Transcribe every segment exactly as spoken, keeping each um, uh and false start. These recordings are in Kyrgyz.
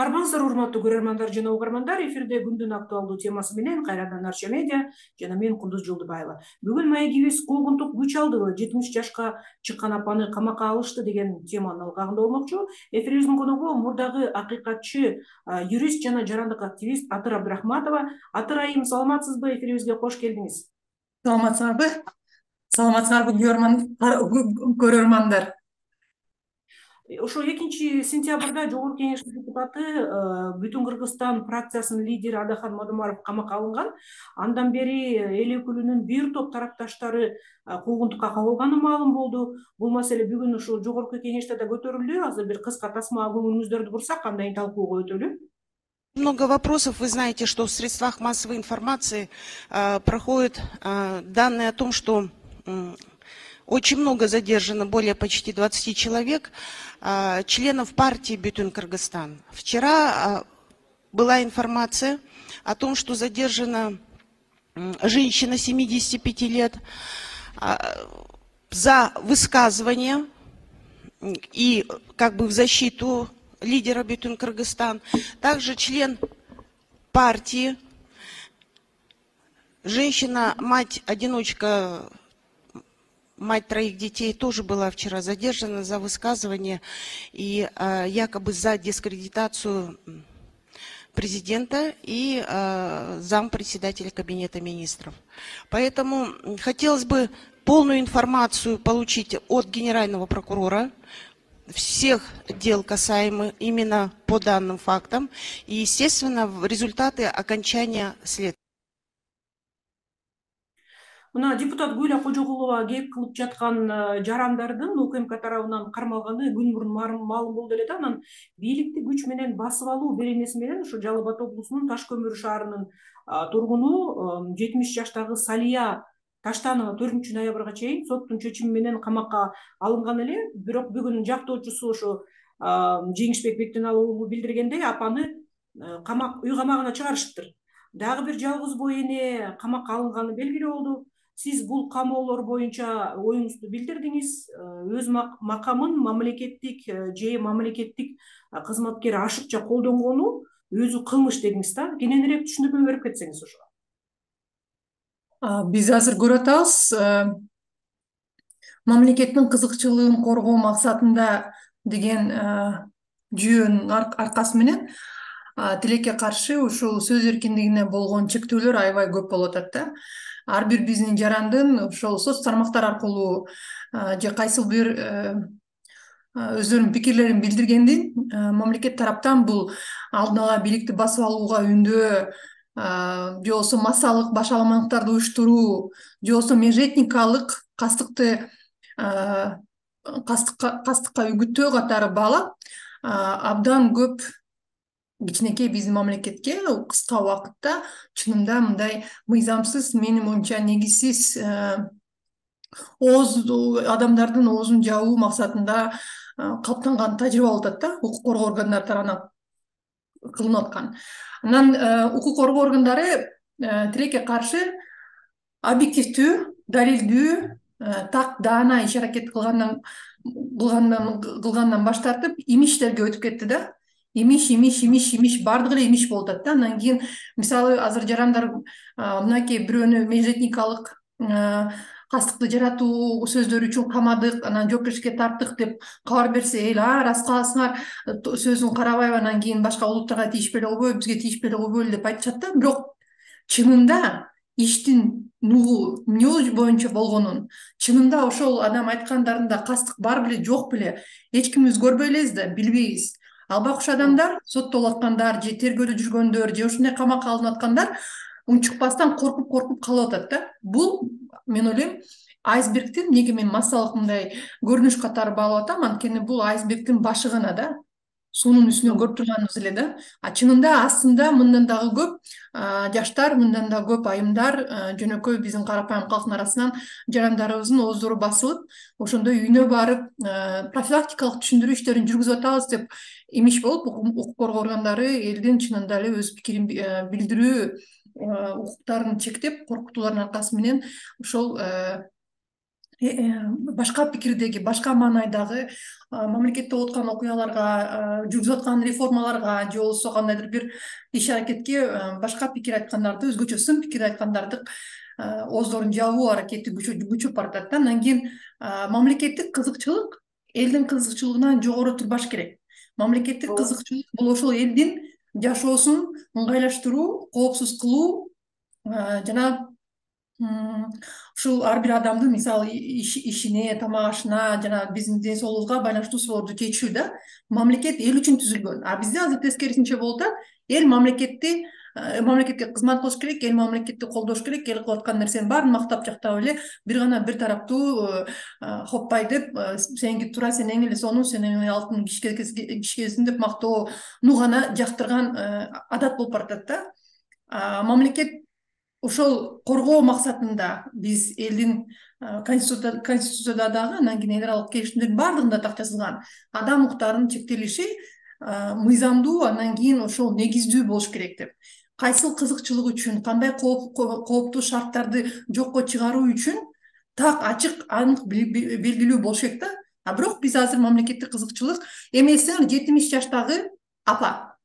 Армансыздар, урматтуу көрөрмандар жана угармандар, эфирде күндүн актуалдуу темасы менен кайрадан Арча медиа жана мен Кундуз Жолдубаева. Бүгүн маегибиз куугунтук күч алдыбы, жетимиш жашка чыккан апаны камакка алышты деген теманын алкагында болмокчу. Эфирибиздин коногу мурдагы акыйкатчы, юрист жана жарандык активист Атыр Абдрахматова. Атыр айым, саламатсызбы? Эфирибизге кош келдиңиз. Саламатсыңарбы? Саламатсыңарбы көрөрмандар? Ошо экинчи сентябрда Жогорку Кеңештин депутаты, Бүтүн Кыргызстан фракциясынын лидери Адахан Мадумаров камакка алынган. Андан бери эл өкүлүнүн бир топ тарапташтары куугунтукка кабылганы маалым болду. Бул маселе бүгүн ушул Жогорку Кеңеште да көтөрүлдү. Азыр бир кыска тасмага көңүлүңүздөрдү бурсак, кандай талкууга өтөлү? Много вопросов. Вы знаете, что в средствах массовой информации э, проходят э, данные о том, что э, очень много задержано, более почти двадцати человек, э, членов партии Бүтүн Кыргызстан. Вчера э, была информация о том, что задержана э, женщина семидесяти пяти лет э, за высказывание и как бы в защиту лидера Бүтүн Кыргызстан, также член партии, женщина, мать-одиночка, мать троих детей, тоже была вчера задержана за высказывание и э, якобы за дискредитацию президента и э, зампредседателя Кабинета министров. Поэтому хотелось бы полную информацию получить от генерального прокурора всех дел, касаемых именно по данным фактам, и, естественно, результаты окончания следствия. Мына депутат Гүлия Кожогулова кеп кылып жаткан жарандардын УКМК тарабынан кармалганы күн мурун маалым болду эле да. Анан бийликти күч менен басып алуу беренеси менен ушу Жалал Абад облусунун Таш көмүр шаарынын тургуну жетимиш жаштагы Салия Таштанова төртүнчү ноябрга чейин соттун чечими менен камакка алынган эле. Бирок бүгүн жактоочусу ошо Жеңишбек Бектеналов уулу билдиргендей, апаны камак үй камагына чыгарышыптыр. Дагы бир жалгыз бой эне камакка алынганы белгилүү болду. Сиз бул камоолор боюнча оюңузду билдирдиңиз. Өз макамын мамлекеттик же мамлекеттик кызматкер ашыкча колдонгону өзү кылмыш дедиңиз да. Кененирээк түшүндүрмө берип кетсеңиз ошого. Биз азыр көрүп атабыз, мамлекеттин кызыкчылыгын коргоо максатында деген жүйөнүн аркасы менен тилекке каршы ушул сөз эркиндигине болгон чектөөлөр аябай көп болуп атат да. Ар бир биздин жарандын ошол соц тармактар аркылуу же кайсыл бир өздөрүнүн пикирлерин билдиргендин мамлекет тараптан бул алдын ала бийликти басып алууга үндөө, же болбосо массалык башаламалыктарды уюштуруу, же болбосо межэтникалык кастыкты кастыкка үгүттөө катары баалап абдан көп кичинекей биздин мамлекетке кыска убакытта чынында мындай мыйзамсыз, менин оюмча негизсиз ооз адамдардын оозун жабуу максатында калыптанган тажрыйба болуп атат да, укук коргоо органдары тарабынан кылынып аткан. Анан укук коргоо органдары тилекке каршы объективдүү, далилдүү, так даана иш аракет кылгандан кылгандан баш тартып имиштерге өтүп кетти да. Имиш, имиш, имиш, имиш, бардыгы эле имиш болуп атат да. Андан кийин мисалы азыр жарандар мынакей бирөөнү межэтникалык кастыкты жаратуу сөздөр үчүн камадык, анан жоопкерчиликке тарттык деп кабар берсе, эл а рас кыласыңар, сөзүн карабайбы, анан кийин башка улуттарга тийишпей эле койбойбу, бизге тийишпей эле койбойлу деп айтышат да. Бирок чынында иштин нугу эмне боюнча болгонун, чынында ошол адам айткандарында кастык бар беле, жок беле, эч кимибиз көрбөй элебиз да, билбейбиз. Ал бакуш адамдар, соттолуп аткандар же тергөдө жүргөндөр же ушундай камакка алынып аткандар унчукпастан коркуп-коркуп калып атат да. Бул мен ойлойм айсбергдин, эмнеге мен массалык мындай көрүнүш катары баалап атам, анткени бул айсбергдин башы гана да. Суунун үстүнөн көрүп турганыбыз эле да. А чынында астында мындан дагы көп жаштар, мындан да көп айымдар, жөнөкөй биздин карапайым калктын арасынан жарандарыбыздын ооздору басылып, ошондой үйүнө барып профилактикалык түшүндүрүү иштерин жүргүзүп атабыз деп имиш болуп, укук коргоо органдары элдин чынында эле өз пикирин билдирүү укуктарын чектеп, коркутуулардын аркасы менен ошол башка пикирдеги, башка маанайдагы мамлекетте болуп аткан окуяларга, жүргүзүп аткан реформаларга же болбосо кандайдыр бир иш аракетке башка пикир айткандарды, өзгөчө сын пикир айткандарды ооздорун жабуу аракети күчөп баратат да. Андан кийин мамлекеттик кызыкчылык элдин кызыкчылыгынан жогору турбаш керек. Мамлекеттик кызыкчылык бул ошол элдин жашоосун ыңгайлаштыруу, коопсуз кылуу жана ушул ар бир адамдын мисалы ишине, тамак ашына жана биздин ден соолугубузга байланыштуу суроолорду чечүү да. Мамлекет эл үчүн түзүлгөн. А бизде азыр тескерисинче болуп атат. Эл мамлекетти мамлекетке кызмат кылыш керек, эл мамлекетти колдош керек, эл кылып аткан нерсенин баарын мактап жактап эле бир гана бир тараптуу хоппай деп сеники туура, сен эң эле сонун, сен эң эле алтын кишкесиң деп мактоону гана жактырган адат болуп баратат да. Мамлекет ошол коргоо максатында биз элдин конституцияда дагы, анан кийин эл аралык келишимдердин баардыгында так жазылган адам укуктарынын чектелиши мыйзамдуу, андан кийин ошол негиздүү болуш керек деп. Кайсыл кызыкчылык үчүн, кандай кооптуу шарттарды жокко чыгаруу үчүн так ачык, анык белгилүү болуш керек да. А бирок биз азыр мамлекеттик кызыкчылык эми эсиңер жетимиш жаштагы апа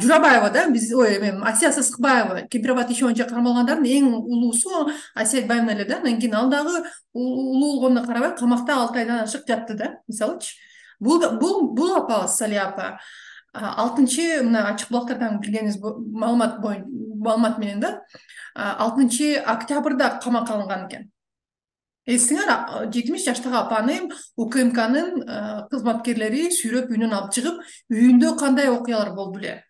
Журабаева да, биз ой эме Асия Сыскыбаева Кемпирабад иши боюнча кармалгандардын эң улуусу Асия Айтбаевна эле да. Андан кийин ал дагы улуу болгонуна карабай камакта алты айдан ашык жатты да, мисалычы. Бул бул бул апабыз Салия апа алтынчы мына ачык булактардан билгениңиз маалымат боюнча маалымат менен да алтынчы октябрда камакка алынган экен. Эсиңер жетимиш жаштагы апаны УКМКнын кызматкерлери сүйрөп үйүнөн алып чыгып, үйүндө кандай окуялар болду эле?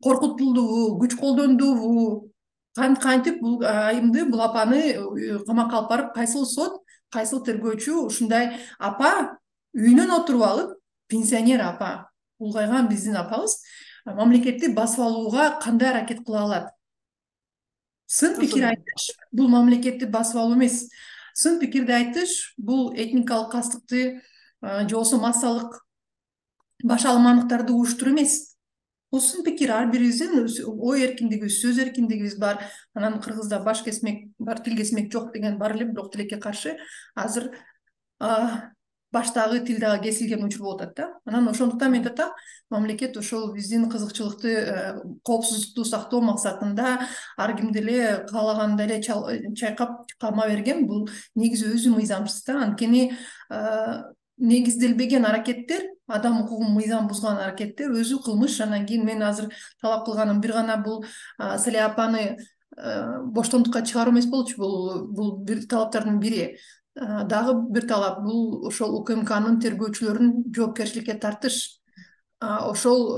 Коркутулдубу, күч колдондубу? Кантип бул айымды, бул апаны камакка алып барып, кайсыл сот, кайсыл тергөөчү ушундай апа үйүнөн отуруп алып, пенсионер апа, улгайган биздин апабыз мамлекетти басып алууга кандай аракет кыла алат? Сын пикир айтыш бул мамлекетти басып алуу эмес. Сын пикирди айтыш бул этникалык кастыкты же болбосо массалык башаламандыктарды уюштуруу эмес. Бул сын пикир, ар бирибиздин ой эркиндигибиз, сөз эркиндигибиз бар. Анан кыргызда баш кесмек бар, тил кесмек жок деген бар эле, бирок тилекке каршы азыр баштагы тил дагы кесилген учур болуп атат да. Анан ошондуктан мен атам, мамлекет ошол биздин кызыкчылыкты, коопсуздукту сактоо максатында ар кимди эле каалагандай эле чайкап кама берген. Бул негизи өзү мыйзамсыз да. Анткени негизделбеген аракеттер, адам укугун мыйзам бузган аракеттер өзү кылмыш. Анан кийин мен азыр талап кылганым бир гана бул Салия апаны боштондукка чыгаруу эмес болчу. Бул бул бир талаптардын бири. Дагы бир талап бул ошол УКМКнын тергөөчүлөрүн жоопкерчиликке тартыш. Ошол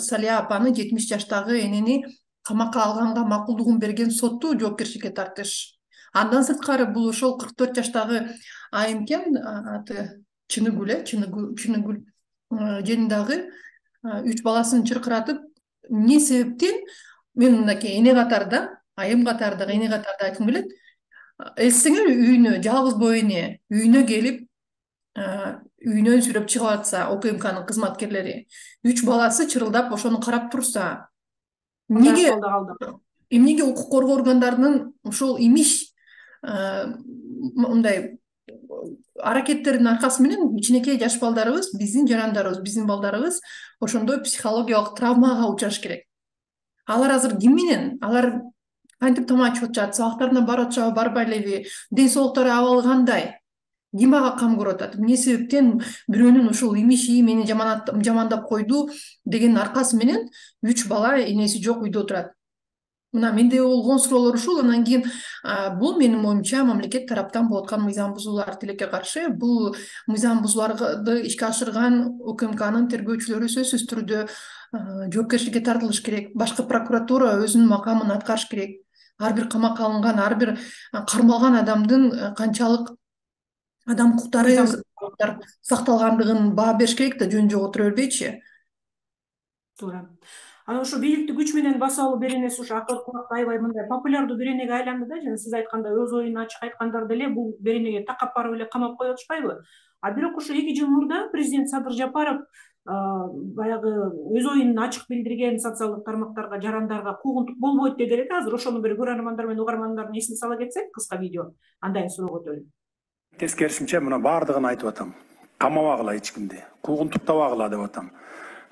Салия апаны жетимиш жаштагы энени камакка алганга макулдугун берген сотту жоопкерчиликке тартыш. Андан сырткары бул ошол кырк төрт жаштагы айым экен, аты Чыныгүл э, Чыныгүл жанындагы үч баласын чыркыратып, эмне себептен мен мынакей эне катарда, айым катардагы эне катарда айткым келет. Эсиңер үйүнө, жалгыз боо эне үйүнө келип, үйүнөн сүйрөп чыгып атса, УКМКнын кызматкерлери, үч баласы чырылдап ошону карап турса, эмнеге эмнеге укук коргоо органдарынын ушул имиш мындай аракеттердин аркасы менен кичинекей жаш балдарыбыз, биздин жарандарыбыз, биздин балдарыбыз ошондой психологиялык травмага учраш керек. Алар азыр ким менен? Алар кантип тамак ичип атышат, сабактарына барып атышабы, барбай элеби, ден соолуктары абалы кандай? Ким ага кам көрүп атат? Эмне себептен бирөөнүн ушул имиши мени жамандап койду деген аркасы менен үч бала энеси жок үйдө отурат? Мына менде болгон суроолор ушул. Андан кийин бул менин оюмча мамлекет тараптан болуп аткан мыйзам бузуулар, тилекке каршы. Бул мыйзам бузууларды ишке ашырган УКМКнын тергөөчүлөрү сөзсүз түрдө жоопкерчиликке тартылыш керек. Башкы прокуратура өзүнүн макамын аткарыш керек. Ар бир камакка алынган, ар бир кармалган адамдын канчалык адам укуктары сакталгандыгын баа бериш керек да, жөн жок отура бербейчи. Туура. Анан ошо бийликти күч менен басып алуу беренеси ушу акыркы убакта аябай мындай популярдуу беренеге айланды да. Жана сиз айткандай өз оюн ачык айткандар деле бул беренеге такап барып эле камап коюп атышпайбы? А бирок ошо эки жыл мурда президент Садыр Жапаров баягы өз оюн ачык билдирген социалдык тармактарга, жарандарга куугунтук болбойт деди элек. Азыр ошону бир көрөрмандар менен угармандардын эсине сала кетсек, кыска видео, андан кийин суроо өтөлү. Тескерисинче мына бардыгын айтып атам. Камабагыла эч кимди, куугунтуктабагыла деп атам.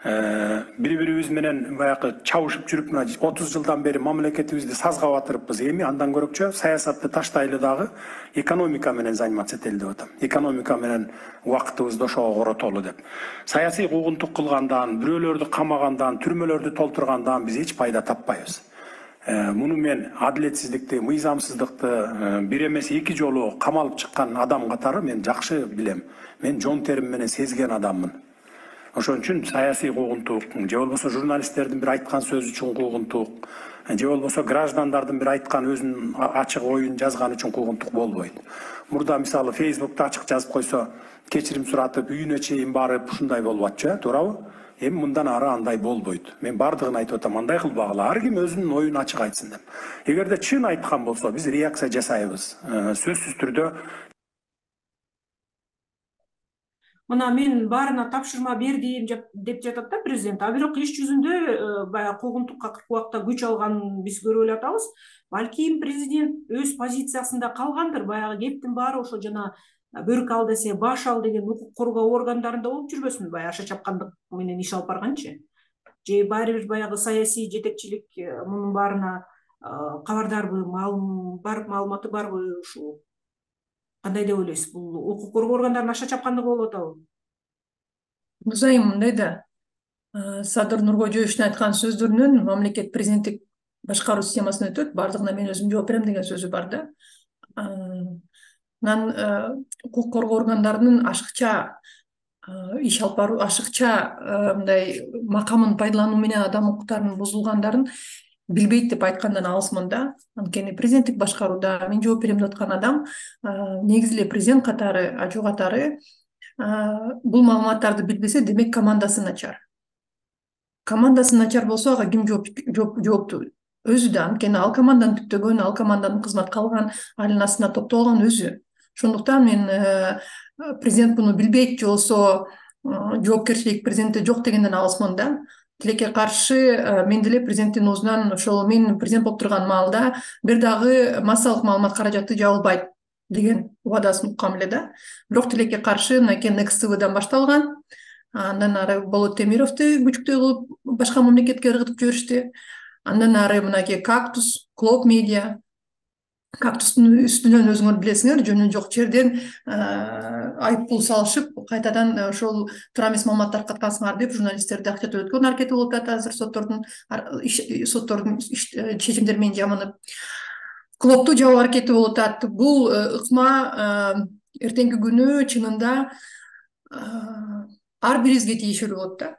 Бири бирибиз менен баягы чабышып жүрүп мына отуз жылдан бери мамлекетибизди сазга батырыппыз. Эми андан көрөкчө саясатты таштайлы дагы экономика менен заниматься этели деп атам. Экономика менен убактыбызды ошого коротолу деп. Саясий куугунтук кылгандан, бирөөлөрдү камагандан, түрмөлөрдү толтургандан биз эч пайда таппайбыз. Муну мен адилетсиздикти, мыйзамсыздыкты бир эмес эки жолу камалып чыккан адам катары мен жакшы билем. Мен жон терим менен сезген адаммын. Ошон үчүн саясий куугунтук, же болбосо журналисттердин бир айткан сөзү үчүн куугунтук, же болбосо граждандардын бир айткан өзүнүн ачык оюн жазган үчүн куугунтук болбойт. Мурда мисалы Facebook'та ачык жазып койсо, кечирим суратып, үйүнө чейин барып ушундай болуп атчу, туурабы? Эми мындан ары андай болбойт. Мен бардыгын айтып атам, андай кылбагыла. Ар ким өзүнүн оюн ачык айтсын деп. Эгерде чын айткан болсо, биз реакция жасайбыз. Сөзсүз түрдө мына мен баарына тапшырма бердим деп жатат да президент. А бирок иш жүзүндө баягы куугунтукка кырк убакта күч алганын биз көрүп эле атабыз. Балким президент өз позициясында калгандыр. Баягы кептин баары ошо жана бөрк ал десе баш ал деген укук коргоо органдарында болуп жүрбөсүн, баягы аша чапкандык менен иш алып барганчы. Же баары бир баягы саясий жетекчилик мунун баарына кабардарбы, бар маалыматы барбы ушул? Кандай деп ойлойсуз? Бул укук коргоо органдарынын аша чапкандыгы болуп атабы? Музайым мындай да, Садыр Нуркожоевичтин айткан сөздөрүнөн мамлекет президенттик башкаруу системасына өтөт, бардыгына мен өзүм жооп берем деген сөзү бар да. Анан укук коргоо органдарынын ашыкча иш алып баруу, ашыкча мындай макамын пайдалануу менен адам укуктарынын бузулгандарын билбейт деп айткандан алысмын да. Анткени президенттик башкарууда мен жооп берем деп аткан адам негизи эле президент катары, ажуу катары бул маалыматтарды билбесе, демек командасы начар. Командасы начар болсо, ага ким жоопту? Өзү да. Анткени ал команданын түптөгөн, ал команданын кызматка алган, алынын астына топтолгон өзү. Ошондуктан мен президент муну билбейт же болбосо жоопкерчилик президентте жок дегенден алысмын да. Тилекке каршы мен деле президенттин оозунан ошол мен президент болуп турган маалда бир дагы массалык маалымат каражаты жабылбайт деген убадасын уккам эле да. Бирок тилекке каршы мынакей Next T V'дан башталган. Андан ары Болот Темировду күчүктүү кылып башка мамлекетке ыргытып жиберишти. Андан ары мынакей Кактус, Клоп Медиа. Кактустун үстүнөн өзүңөр билесиңер, жөнү жок жерден айыппул салышып, кайтадан ошол туура эмес маалымат таркаткансыңар деп журналисттерди акча төлөткөн аракети болуп атат азыр соттордун соттордун чечимдери менен жаманып. Клопту жабуу аракети болуп атат. Бул ыкма эртеңки күнү чынында ар бирибизге тийишелүү болот да.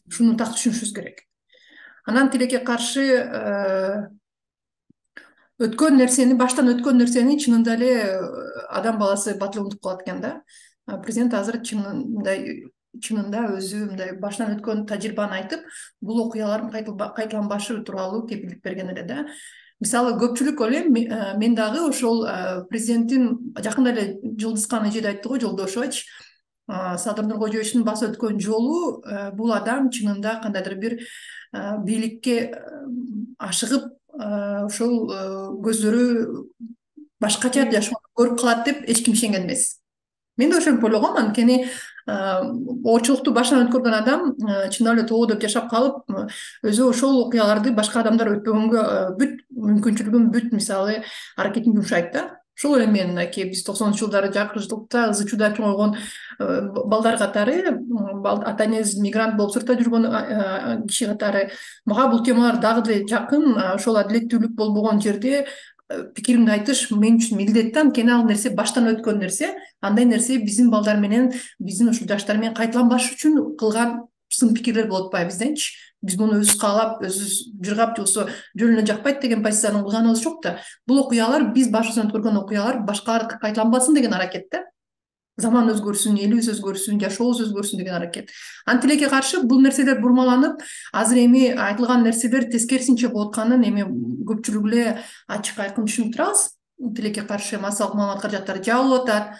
Шуну так түшүнүшүбүз керек. Анан тилекке каршы өткөн нерсени, баштан өткөн нерсени чынында эле адам баласы батыл унутуп калат экен да. Президент азыр чынында чынында өзү мындай баштан өткөн тажрыйбаны айтып, бул окуялардын кайталанбашы тууралуу кепилдик берген эле да. Мисалы көпчүлүк ойлойм, мен дагы ошол президенттин жакында эле Жылдызкан эжеде айтты го, Жолдошович, Садыр Нуркожоевичтин басып өткөн жолу бул адам чынында кандайдыр бир бийликке ашыгып ошол көздөрү башкача жашоону көрүп калат деп эч ким ишенген эмес. Мен да ошентип ойлогом, анткени оорчулукту башынан өткөргөн адам чындап эле тобо деп жашап калып, өзү ошол окуяларды башка адамдар өтпөгөнгө бүт мүмкүнчүлүгүн, бүт мисалы аракетин жумшайт да. Ошол эле мен мынакей биз токсонунчу жылдары жакырчылыкта ызы чуда чоңойгон балдар катары, ата энеси мигрант болуп сыртта жүргөн киши катары мага бул темалар дагы деле жакын. Ошол адилеттүүлүк болбогон жерде пикиримди айтыш мен үчүн милдет да, анткени ал нерсе баштан өткөн нерсе. Андай нерсе биздин балдар менен, биздин ушул жаштар менен кайталанбаш үчүн кылган сын пикирлер болуп атпайбы бизденчи? Биз муну өзүбүз каалап, өзүбүз жыргап же болбосо жөн эле жакпайт деген позициянын кылганыбыз жок да. Бул окуялар, биз башыбыздан өткөргөн окуялар башкалар кайталанбасын деген аракет да. Заман өзгөрсүн, элибиз өзгөрсүн, жашообуз өзгөрсүн деген аракет. Анан тилекке каршы бул нерселер бурмаланып, азыр эми айтылган нерселер тескерисинче болуп атканын эми көпчүлүк эле ачык айкын түшүнүп турабыз. Тилекке каршы массалык маалымат каражаттары жабылып атат.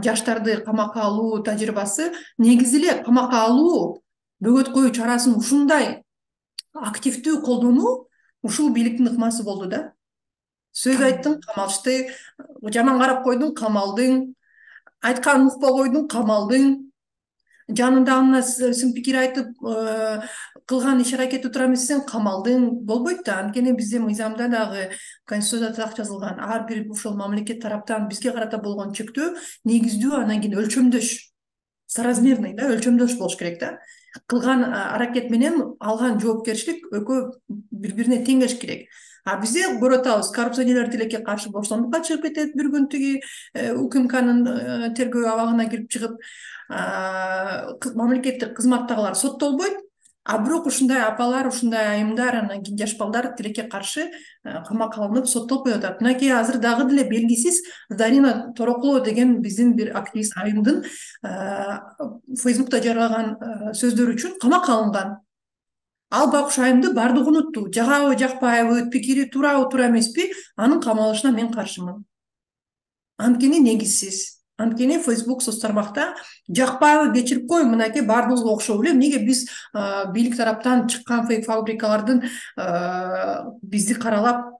жаштарды камакка алуу тажрыйбасы негизи эле камакка алуу бөгөт коюу чарасын ушундай активдүү колдонуу ушул бийликтин ыкмасы болду да. Сөз айттың, камалышты, жаман карап койдуң, камалдың, айтканын укпай койдуң, камалдың, жанындагына сын пикир айтып, кылган иш аракетти туура эмес десең, камалдың, болбойт да. Анткени биздин мыйзамда дагы, Конституцияда так жазылган, ар бир ушул мамлекет тараптан бизге карата болгон чектөө негиздүү, анан кийин өлчөмдөш, соразмерный да, өлчөмдөш болуш керек да. Кылган аракет менен алган жоопкерчилик экөө бири-бирине тең келиш керек. А бизде көрүп атабыз, коррупционерлер тилекке каршы бостондукка чыгып кетет, бир күн тиги УКМКнын тергөө абагына кирип чыгып, мамлекеттик кызматтагылар соттолбойт, а бирок ушундай апалар, ушундай айымдар, анан кийин жаш балдар тилекке каршы камакка алынып соттолуп коюп атат. Мынакей азыр дагы деле белгисиз Зарина Торокулова деген биздин бир активист айымдын Фейсбукта жарыялаган сөздөрү үчүн камакка алынган. Ал байкуш айымды баардыгы унутту. Жагабы, жакпайбы, пикири туурабы, туура эмеспи, анын камалышына мен каршымын. Анткени негизсиз. Анткени Facebook соц тармакта жакпайбы, кечирип кой, мынакей баардыгыбызга окшоп эле. Эмнеге биз бийлик тараптан чыккан фейк фабрикалардын бизди каралап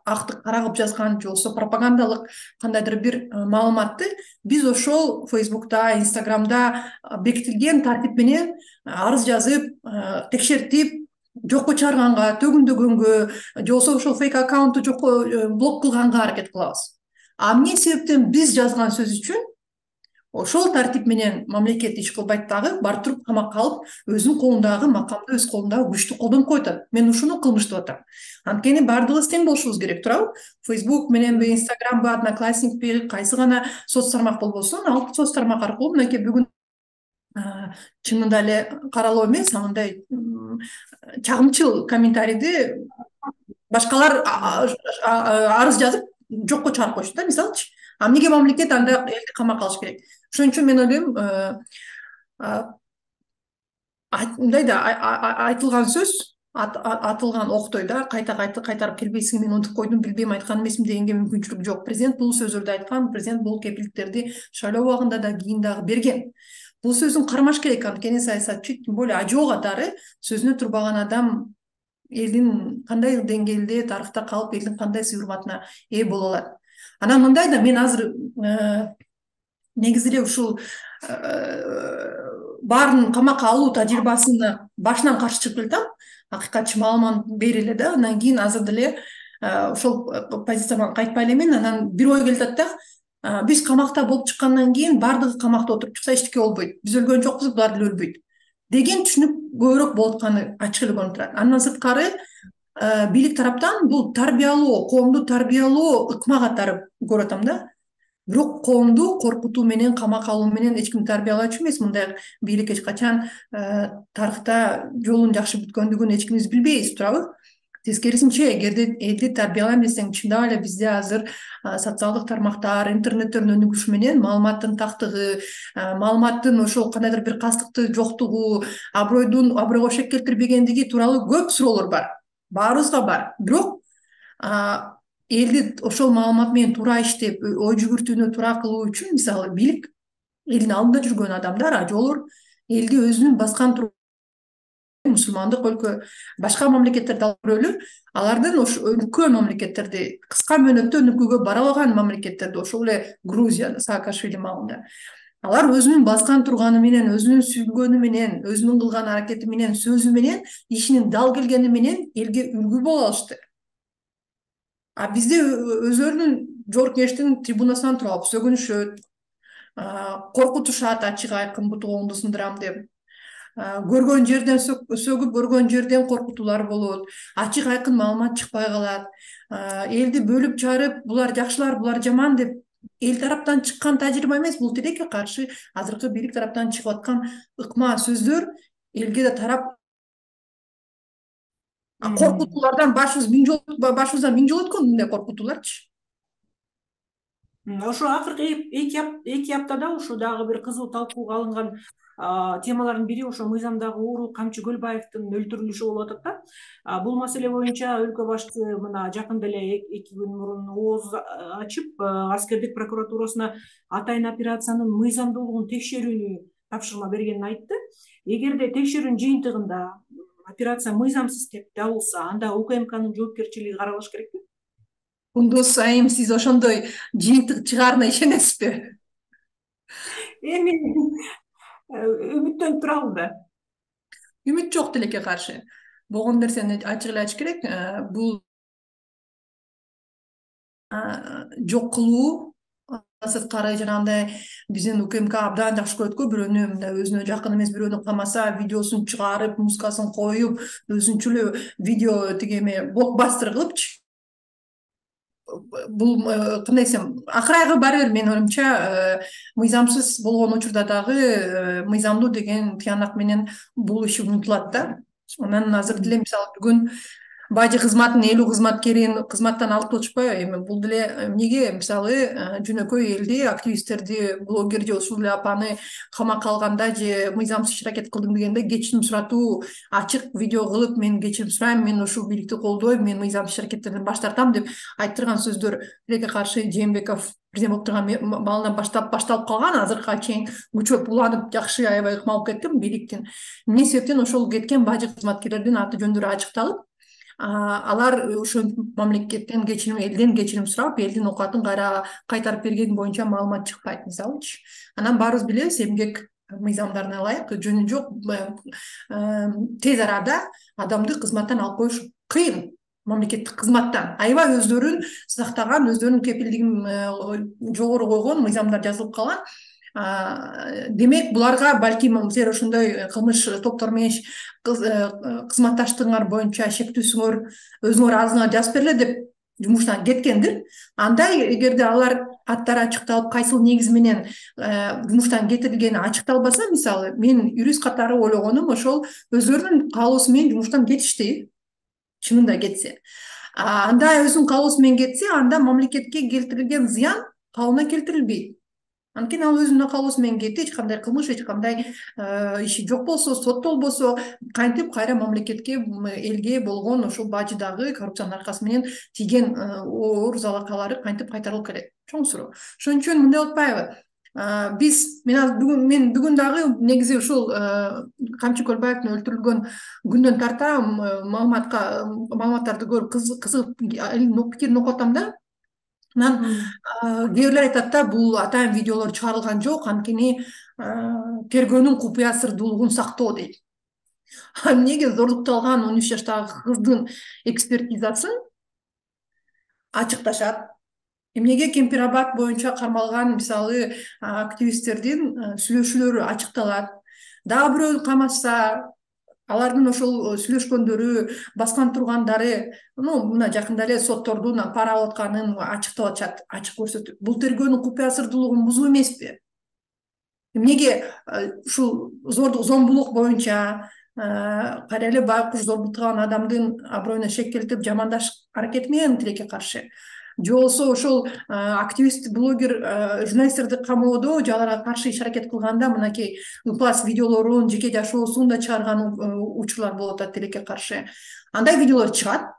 актык кара кылып жазган же болбосо пропагандалык кандайдыр бир маалыматты биз ошол Фейсбукта, Инстаграмда бекитилген тартип менен арыз жазып, текшертип, жокко чыгарганга, төгүндөгөнгө, же болбосо ошол фейк аккаунтту жокко блок кылганга аракет кылабыз. А эмне себептен биз жазган сөз үчүн ошол тартип менен мамлекет иш кылбайт дагы, барып туруп камакка алып, өзүнүн колундагы макамды, өз колундагы күчтү колдонуп коюп атат. Мен ушуну кылмыш деп атам. Анткени баардыгыбыз тең болушубуз керек, туурабы? Facebook мененби, Instagramбы, Одноклассникпи, кайсы гана соц тармак болбосун, ал соц тармак аркылуу мынакей бүгүн чынында эле каралоо эмес, мындай чагымчыл комментарийди башкалар арыз жазып жокко чыгарып коюшту да, мисалычы. А эмнеге мамлекет анда элди камакка алыш керек? Ошон үчүн мен ойлойм, мындай да айтылган сөз, атылган октой да кайта кайта кайтарып келбейсиң, мен унутуп койдум, билбейм, айткан эмесмин дегенге мүмкүнчүлүк жок. Президент бул сөздөрдү айткан, президент бул кепилдиктерди шайлоо убагында да кийин дагы берген. Бул сөзүн кармаш керек, анткени саясатчы, тем более ажоо катары сөзүнө турбаган адам элдин кандай деңгээлде тарыхта калып, элдин кандай сый урматына ээ боло алат. Анан мындай да, мен азыр негизи эле ушул баарын камакка алуу тажрыйбасына башынан каршы чыгып келатам. Акыйкатчы маалымат бере эле да, андан кийин азыр деле ошол позицияман кайтпай элемин. Анан бир ой келип атат да, биз камакта болуп чыккандан кийин баардыгы камакта отуруп чыкса эчтеке болбойт. Биз өлгөн жокпуз, булар деле өлбөйт деген түшүнүк көбүрөөк болуп атканы ачык эле көрүнүп турат. Андан сырткары бийлик тараптан бул тарбиялоо, коомду тарбиялоо ыкма катары көрүп атам да. Бирок коомду коркутуу менен, камакка алуу менен эч ким тарбиялачу эмес. Мындай бийлик эч качан тарыхта жолун жакшы бүткөндүгүн эч кимибиз билбейбиз, туурабы? Тескерисинче, эгерде элди тарбиялайм десең, чындап эле бизде азыр социалдык тармактар, интернеттердин өнүгүшү менен маалыматтын тактыгы, маалыматтын ошол кандайдыр бир кастыкты жоктугу, абройдун абройго шек келтирбегендиги тууралуу көп суроолор бар. Баарыбызга бар. Бирок элди ошол маалымат менен туура иштеп, ой жүгүртүүнү туура кылуу үчүн, мисалы, бийлик, элдин алдында жүргөн адамдар, ажоолор элди өзүнүн баскан мусулмандык өлкө, башка мамлекеттерди алып көрөлү, алардын ошо өнүккөн мамлекеттерди, кыска мөөнөттө өнүкүүгө бара алган мамлекеттерди, ошол эле Грузия, Саакашвили маалында, алар өзүнүн баскан турганы менен, өзүнүн сүйлөгөнү менен, өзүнүн кылган аракети менен, сөзү менен, ишинин дал келгени менен элге үлгү боло алышты. А бизде өздөрүнүн жогорку кеңештин трибунасынан туруп алып сөгүнүшөт, коркутушат, ачык айкын бутугуңду сындырам деп. Көргөн жерден сөгүп, көргөн жерден коркутуулар болот. Ачык айкын маалымат чыкпай калат. Элди бөлүп чарып, булар жакшылар, булар жаман деп эл тараптан чыккан тажрыйба эмес, бул тилекке каршы азыркы бийлик тараптан чыгып аткан ыкма сөздөр элге да тарап коркутуулардан башыбыз миң жолу башыбыздан миң жолу өткөн мындай коркутууларчы. Ошо акыркы эки аптада ушу дагы бир кызуу талкууга алынган темалардын бири ошо мыйзамдагы ууру Камчы Көлбаевдин өлтүрүлүшү болуп атат да. Бул маселе боюнча өлкө башчысы мына жакында эле эки күн мурун ооз ачып аскердик прокуратурасына атайын операциянын мыйзамдуулугун текшерүүнү тапшырма бергенин айтты. Эгерде текшерүүнүн жыйынтыгында операция мыйзамсыз деп табылса, анда УКМКнын жоопкерчилиги каралыш керекпи? Кундуз айым, сиз ошондой жыйынтык чыгаарына ишенесизби? Эми үмүттөнүп турабыз да. Үмүт жок тилекке каршы. Болгон нерсени ачык эле айтыш керек. Бул жок кылуу, сырткары жанагындай биздин УКМК абдан жакшы көрөт го, бирөөнү мындай өзүнө жакын эмес бирөөнү камаса, видеосун чыгарып, музыкасын коюп, өзүнчө эле видео тиги эме блокбастер кылыпчы. Бул кандай десем, акырайгы баары бир менин оюмча мыйзамсыз болгон учурда дагы мыйзамдуу деген тыянак менен бул иш унутулат да. Анан азыр деле мисалы бүгүн бажы кызматтын элүү кызматкерин кызматтан алып болчупайбы? Эми бул деле эмнеге мисалы жөнөкөй элди, активисттерди, блогер же ушул эле апаны камакка алганда же мыйзамсыз иш аракет кылдым дегенде кечирим суратуу, ачык видео кылып, мен кечирим сурайм, мен ушул бийликти колдойм, мен мыйзамсыз иш аракеттерден баш тартам деп айттырган сөздөр тилекке каршы Жээнбеков президент болуп турган маалдан баштап башталып калган, азыркыга чейин күчөп уланып жакшы аябай ыкма болуп кеткен бийликтин. Эмне себептен ошол кеткен бажы кызматкерлердин аты жөндөрү ачыкталып, алар ошо мамлекеттен кечирим, элден кечирим сурап, элдин оокатын кайра кайтарып бергени боюнча маалымат чыкпайт мисалычы. Анан баарыбыз билебиз, эмгек мыйзамдарына ылайык жөнү жок тез арада адамды кызматтан алып коюш кыйын. Мамлекеттик кызматтан аябай өздөрүн сактаган, өздөрүнүн кепилдигин жогору койгон мыйзамдар жазылып калган. Демек буларга балким силер ошондой кылмыш топтор менен кызматташтыгыңар боюнча шектүүсүңөр өзүңөр азыңар жазып бергиле деп жумуштан кеткендир. Андай эгерде алар аттары ачыкталып, кайсыл негиз менен жумуштан кетирилгени ачыкталбаса, мисалы мен юрист катары ойлогонум ошол өздөрүнүн каалоосу менен жумуштан кетишти. Чынында кетсе. Анда өзүнүн каалоосу менен кетсе, анда мамлекетке келтирилген зыян калыбына келтирилбейт. Анткени ал өзүнүн каалоосу менен кетти, эч кандай кылмыш, эч кандай иши жок болсо, соттолбосо, кантип кайра мамлекетке, элге болгон ошол бажыдагы коррупциянын аркасы менен тийген оор залакалары кантип кайтарылып келет? Чоң суроо. Ошон үчүн мындай болуп атпайбы? Биз мен бүгүн мен бүгүн дагы негизи ушул Камчы Көлбаевдин өлтүрүлгөн күндөн тарта маалыматка маалыматтарды көрүп кызыгып пикирин окуп атам да. Анан кээ бирлер айтат да, бул атайын видеолор чыгарылган жок, анткени тергөөнүн купуя сырдуулугун сактоо дейт. Эмнеге зордукталган он үч жаштагы кыздын экспертизасын ачыкташат? Эмнеге Кемпирабад боюнча кармалган мисалы активисттердин сүйлөшүүлөрү ачыкталат? Дагы бирөө камашса, алардын ошол сүйлөшкөндөрү, баскан тургандары, ну мына жакында эле соттордун пара алып атканын ачыктап атышат, ачык көрсөтүп. Бул тергөөнүн купуя сырдуулугун бузуу эмеспи? Эмнеге ушул зордук, зомбулук боюнча кайра эле байкуш зордуктаган адамдын аброюна шек келтирип жамандаш аракети менен тилекке каршы? Же болбосо ошол активист, блогер, журналисттерди камоодо же аларга каршы иш аракет кылганда мынакей ыплас видеолорун, жеке жашоосун да чыгарган учурлар болуп атат тилекке каршы. Андай видеолор чыгат.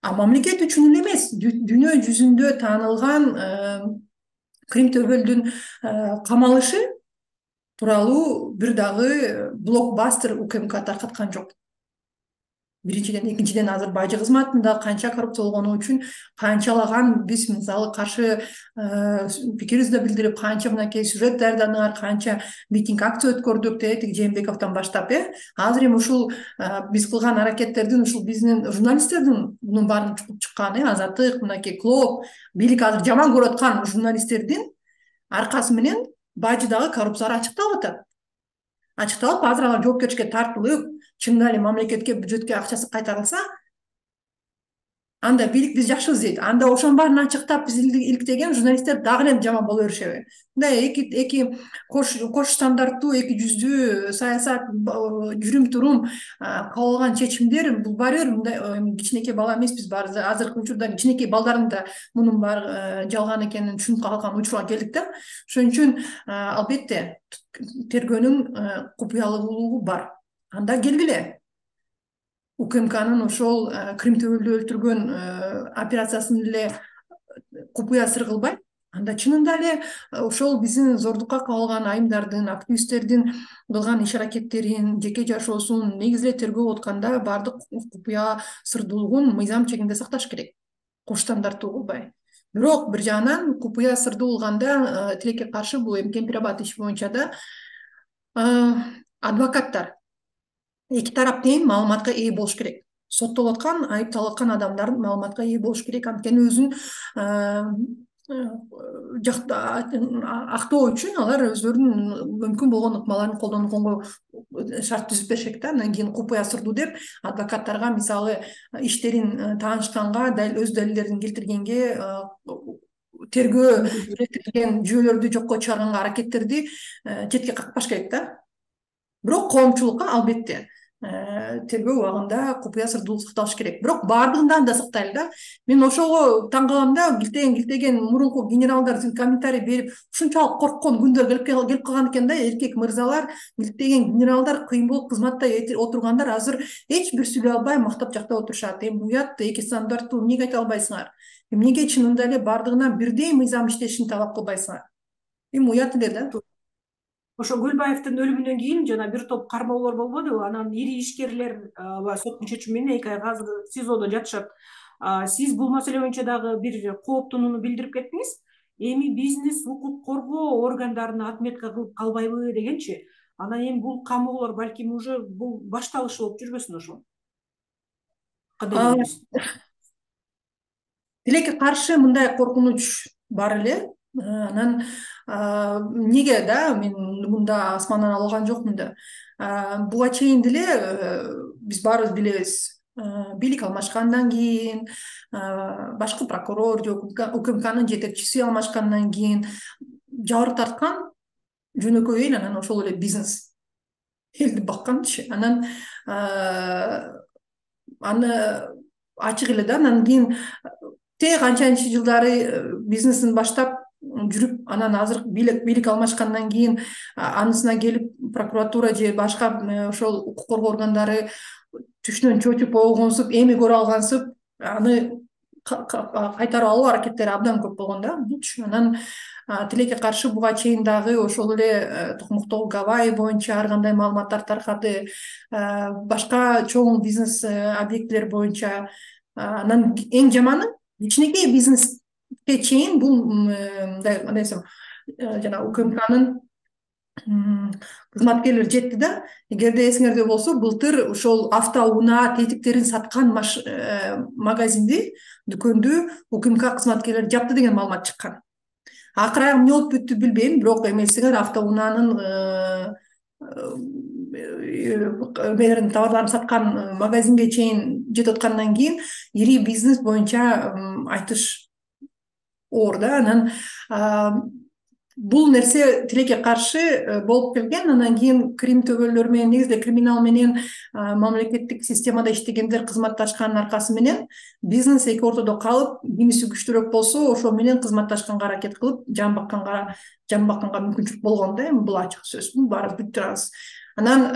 А мамлекет үчүн эле эмес, дүйнө жүзүндө таанылган Крим Төбөлдүн камалышы тууралуу бир дагы блокбастер УКМК таркаткан жок. Биринчиден, экинчиден азыр бажы кызматында канча коррупция болгону үчүн канчалаган биз мисалы каршы пикирибизди билдирип, канча мынакей сюжет даярдадыңар, канча митинг акция өткөрдүк деп Жээнбековдон баштап, э азыр эми ушул биз кылган аракеттердин, ушул биздин журналисттердин мунун баарын чукуп чыккан, э Азаттык, мынакей Клоп, бийлик азыр жаман көрүп аткан журналисттердин аркасы менен бажыдагы коррупциялар ачыкталып атат. Ачыкталып, азыр алар жоопкерчиликке тартылып, чынында эле мамлекетке, бюджетке акчасы кайтарылса, анда бийлик биз жакшыбыз дейт. Анда ошонун баарын ачыктап биз иликтеген журналисттер дагы эле жаман боло беришеби? Мындай эки эки кош кош стандарттуу, эки жүздүү саясат, жүрүм турум, кабыл алган чечимдер бул баары бир мындай кичинекей бала эмеспиз. Баары азыркы учурда кичинекей балдардын да мунун баары жалган экенин түшүнүп калган учурга келдик да. Ошон үчүн албетте тергөөнүн купуялуулугу бар. Анда келгиле. УКМКнын ошол Крим төбөлдү өлтүргөн операциясын эле купуя сыр кылбай, анда чынында эле ошол биздин зордукка кабылган айымдардын, активисттердин кылган иш аракеттерин, жеке жашоосун негизи эле тергөө атканда баардык купуя сырдуулугун мыйзам чегинде сакташ керек. Кош стандарттуу кылбай. Бирок бир жагынан купуя сырдуу кылганда тилекке каршы бул эми Кемпир-Абад иши боюнча да адвокаттар эки тарап тең маалыматка ээ болуш керек. Соттолуп аткан, айыпталып аткан адамдар маалыматка ээ болуш керек. Анткени өзүн актоо үчүн алар өздөрүнүн мүмкүн болгон ыкмаларын колдонууга шарт түзүп беришет да. Андан кийин купуя сырдуу деп адвокаттарга мисалы иштерин таанышканга, өз далилдерин келтиргенге, тергөө келтирген жүйөлөрдү жокко чыгарганга аракеттерди четке какпаш керек да. Бирок коомчулукка албетте тергөө убагында купуя сырдуулук сакталыш керек. Бирок баардыгынан да сактайлы да. Мен ошого таң калам да, килтеген килтеген мурунку генералдар комментарий берип, ушунчалык корккон күндөр келип келип калган экен да. Эркек мырзалар, килтеген генералдар кыйын болуп кызматта отургандар азыр эч бир сүйлөй албай мактап жактап отурушат. Эми уят, эки стандарттуу эмнеге айта албайсыңар? Эмнеге чынында эле баардыгына бирдей мыйзам иштешин талап кылбайсыңар? Эми уят эле да. Ошо Гүлбаевдин өлүмүнөн кийин жана бир топ кармоолор болбодубу? Анан ири ишкерлер соттун чечими менен эки айга азыр СИЗОдо жатышат. Сиз бул маселе боюнча дагы бир кооптонууну билдирип кеттиңиз. Эми бизнес укук коргоо органдарына отметка кылып калбайбы дегенчи. Анан эми бул камоолор балким уже бул башталышы болуп жүрбөсүн ошол. Кандай дейсиз? Тилекке каршы мындай коркунуч бар эле. Анан эмнеге да мен мында асмандан алган жокмун да. Буга чейин деле биз баарыбыз билебиз. Бийлик алмашкандан кийин, башкы прокурор же УКМКнын жетекчиси алмашкандан кийин жабыр тарткан жөнөкөй эл, анан ошол эле бизнес. Элди бакканчы. Анан аны ачык эле да. Анан кийин те канчанчы жылдары бизнесин баштап жүрүп, анан азыр бийлик бийлик алмашкандан кийин анысына келип прокуратура же башка ошол укук коргоо органдары түшүнөн чочуп болгонсуп, эми көрө алгансып, аны кайтарып алуу аракеттери абдан көп болгон да. Анан тилекке каршы буга чейин дагы ошол эле Токмоктогу Гавайи боюнча ар кандай маалыматтар таркады, башка чоң бизнес объектилер боюнча. Анан эң жаманы кичинекей бизнес чейин бул мындай десем жана УКМКнын кызматкерлери жетти да. Эгерде эсиңерде болсо, былтыр ошол автоунаа тетиктерин саткан магазинди, дүкөндү УКМК кызматкерлери жапты деген маалымат чыккан. Акыры эмне болуп бүттү билбейм, бирок эмесиңер автоунаанын эмелерин, товарларын саткан магазинге чейин жетип аткандан кийин ири бизнес боюнча айтыш оор да. Анан бул нерсе тилекке каршы болуп келген. Анан кийин Крим төбөлдөр менен, негизи криминал менен мамлекеттик системада иштегендер кызматташкандын аркасы менен бизнес эки ортодо калып, кимиси күчтүүрөөк болсо, ошол менен кызматташканга аракет кылып, жан бакканга жан бакканга мүмкүнчүлүк болгон да. Эми бул ачык сөз, баарыбыз билип турабыз. Анан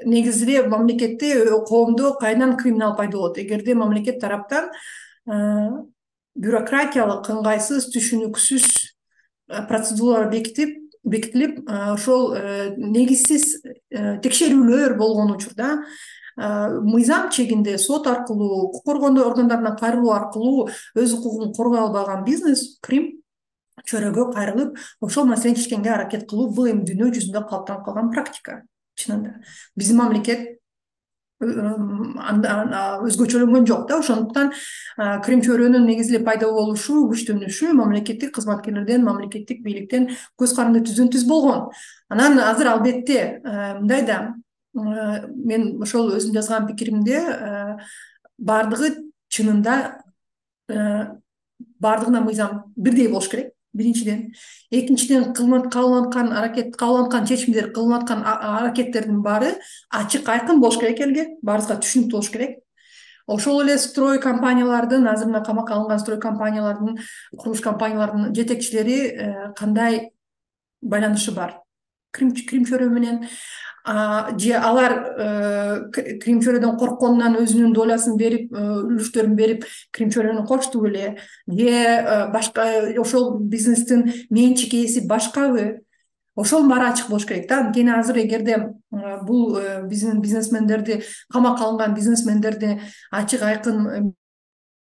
негизи эле мамлекетте, коомдо кайдан криминал пайда болот? Эгерде мамлекет тараптан бюрократиялык, ыңгайсыз, түшүнүксүз процедуралар бекитип, бекитилип, ошол негизсиз текшерүүлөр болгон учурда мыйзам чегинде сот аркылуу, укук коргоо органдарына кайрылуу аркылуу өз укугун коргой албаган бизнес Крим чөйрөгө кайрылып, ошол маселени чечкенге аракет кылуу бул эми дүйнө жүзүндө калыптанып калган практика. Чынында биздин мамлекет өзгөчөлөнгөн жок да. Ошондуктан Крим чөйрөнүн негизи эле пайда болушу, күчтөнүшү мамлекеттик кызматкерлерден, мамлекеттик бийликтен көз каранды түздөн түз болгон. Анан азыр албетте мындай да, мен ошол өзүм жазган пикиримде баардыгы чынында бардыгына мыйзам бирдей болуш керек. Биринчиден, экинчиден кылынып калган аракет, кабылган чечимдер, кылынып аткан аракеттердин баары ачык, айкын болуш керек элге, баарыбызга түшүнүктүү болуш керек. Ошол эле строй компаниялардын, азыр мына камакка алынган строй компаниялардын, курулуш компаниялардын жетекчилери кандай байланышы бар? Кримчөрө менен же алар Кримчөрөдөн коркконунан өзүнүн долясын берип, үлүштөрүн берип, Кримчөрөнү кошту беле? Же башка ошол бизнестин менчик ээси башкабы? Ошол баары ачык болуш керек да. Анткени азыр эгерде бул биздин бизнесмендерди, камакка алынган бизнесмендерди ачык, айкын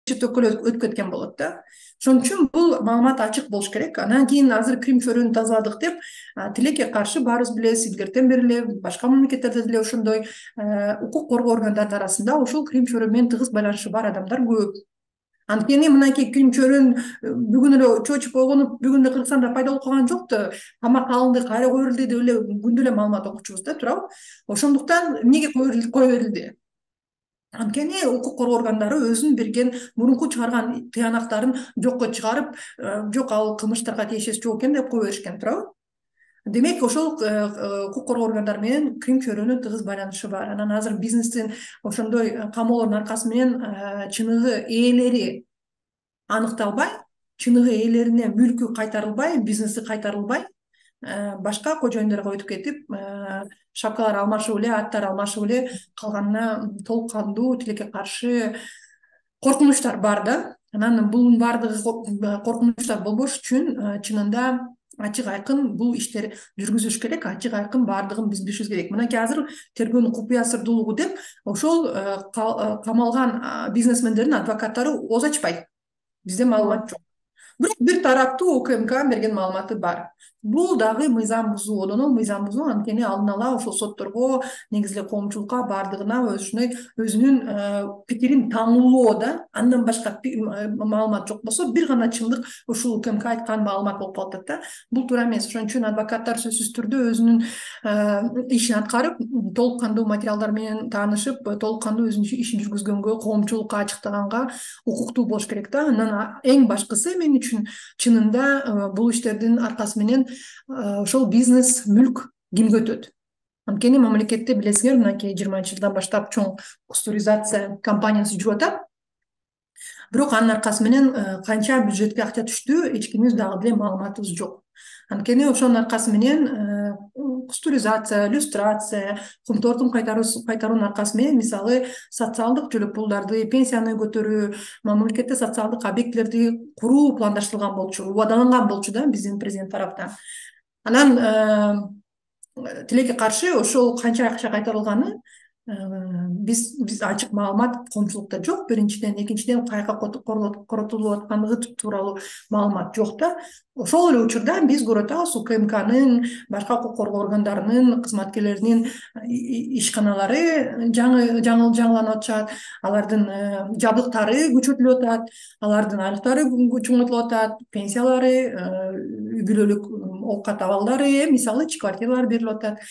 төкөлө өтүп кеткен болот да. Ошон үчүн бул маалымат ачык болуш керек. Анан кийин азыр Кримчөрөнү тазаладык деп тилекке каршы баарыбыз билебиз, илгертен бери эле башка мамлекеттерде деле ошондой укук коргоо органдарынын арасында ошол Кримчөрө менен тыгыз байланышы бар адамдар көп. Анткени мынакей Кримчөрөнү бүгүн эле чочуп ойгонуп, бүгүн эле Кыргызстанда пайда болуп калган жок да, камакка алынды, кайра кое берилди деп эле күндө эле маалымат окучубуз да, туурабы? Ошондуктан эмнеге кое берилди? Анткени укук коргоо органдары өзүнүн берген мурунку чыгарган тыянактарын жокко чыгарып, жок ал кылмыштарга тиешеси жок экен деп кое беришкен, туурабы? Демек, ошол укук коргоо органдары менен Кримчөрөнүн тыгыз байланышы бар. Анан азыр бизнестин ошондой камоолордун аркасы менен чыныгы ээлери аныкталбай, чыныгы ээлерине мүлкү кайтарылбай, бизнеси кайтарылбай, башка кожоюндорго өтүп кетип, шапкалар алмашып эле, аттар алмашып эле калганына толук кандуу тилекке каршы коркунучтар бар да. Анан бунун баардыгы коркунучтар болбош үчүн чынында ачык, айкын бул иштер жүргүзүлүш керек, ачык, айкын баардыгын биз билишибиз керек. Мынакей азыр тергөөнүн купуя сырдуулугу деп ошол камалган бизнесмендердин адвокаттары ооз ачпайт. Бизде маалымат жок. Бирок бир тараптуу УКМК берген маалыматы бар. Бул дагы мыйзам бузуу, одан ол мыйзам бузуу, анткени алдын ала ошол сотторго, негизи эле коомчулукка баардыгына өзүнүн өзүнүн пикирин таңуулоо да, андан башка маалымат жок болсо, бир гана чындык ушул УКМК айткан маалымат болуп калып атат да. Бул туура эмес. Ошон үчүн адвокаттар сөзсүз түрдө өзүнүн ишин аткарып, толук кандуу материалдар менен таанышып, толук кандуу өзүнүн ишин жүргүзгөнгө, коомчулукка ачыктаганга укуктуу болуш керек да. Анан эң башкысы мен үчүн чынында бул иштердин аркасы менен ошол бизнес, мүлк кимге өтөт? Анткени мамлекетте билесиңер, мынакей жыйырманчы жылдан баштап чоң кустуризация кампаниясы жүрүп атат. Бирок анын аркасы менен канча бюджетке акча түштү, эч кимибиз дагы деле маалыматыбыз жок. Анткени ошонун аркасы менен кустуризация, иллюстрация, кумтордун кайтаруунун аркасы менен мисалы социалдык жөлөк пулдарды, пенсияны көтөрүү, мамлекетте социалдык объектилерди куруу пландаштырылган болчу, убадаланган болчу да биздин президент тараптан. Анан тилекке каршы ошол канча акча кайтарылганы биз биз ачык маалымат коомчулукта жок. Биринчиден, экинчиден каяка коротулуп аткандыгы тууралуу маалымат жок да. Ошол эле учурда биз көрүп атабыз УКМКнын, башка укук коргоо органдарынын кызматкерлеринин ишканалары жаңы жаңы жаңыланып атышат, алардын жабдыктары күчөтүлүп атат, алардын айлыктары чоңойтулуп атат, пенсиялары, үй бүлөлүк оокат абалдары, мисалы ич квартиралар берилип атат.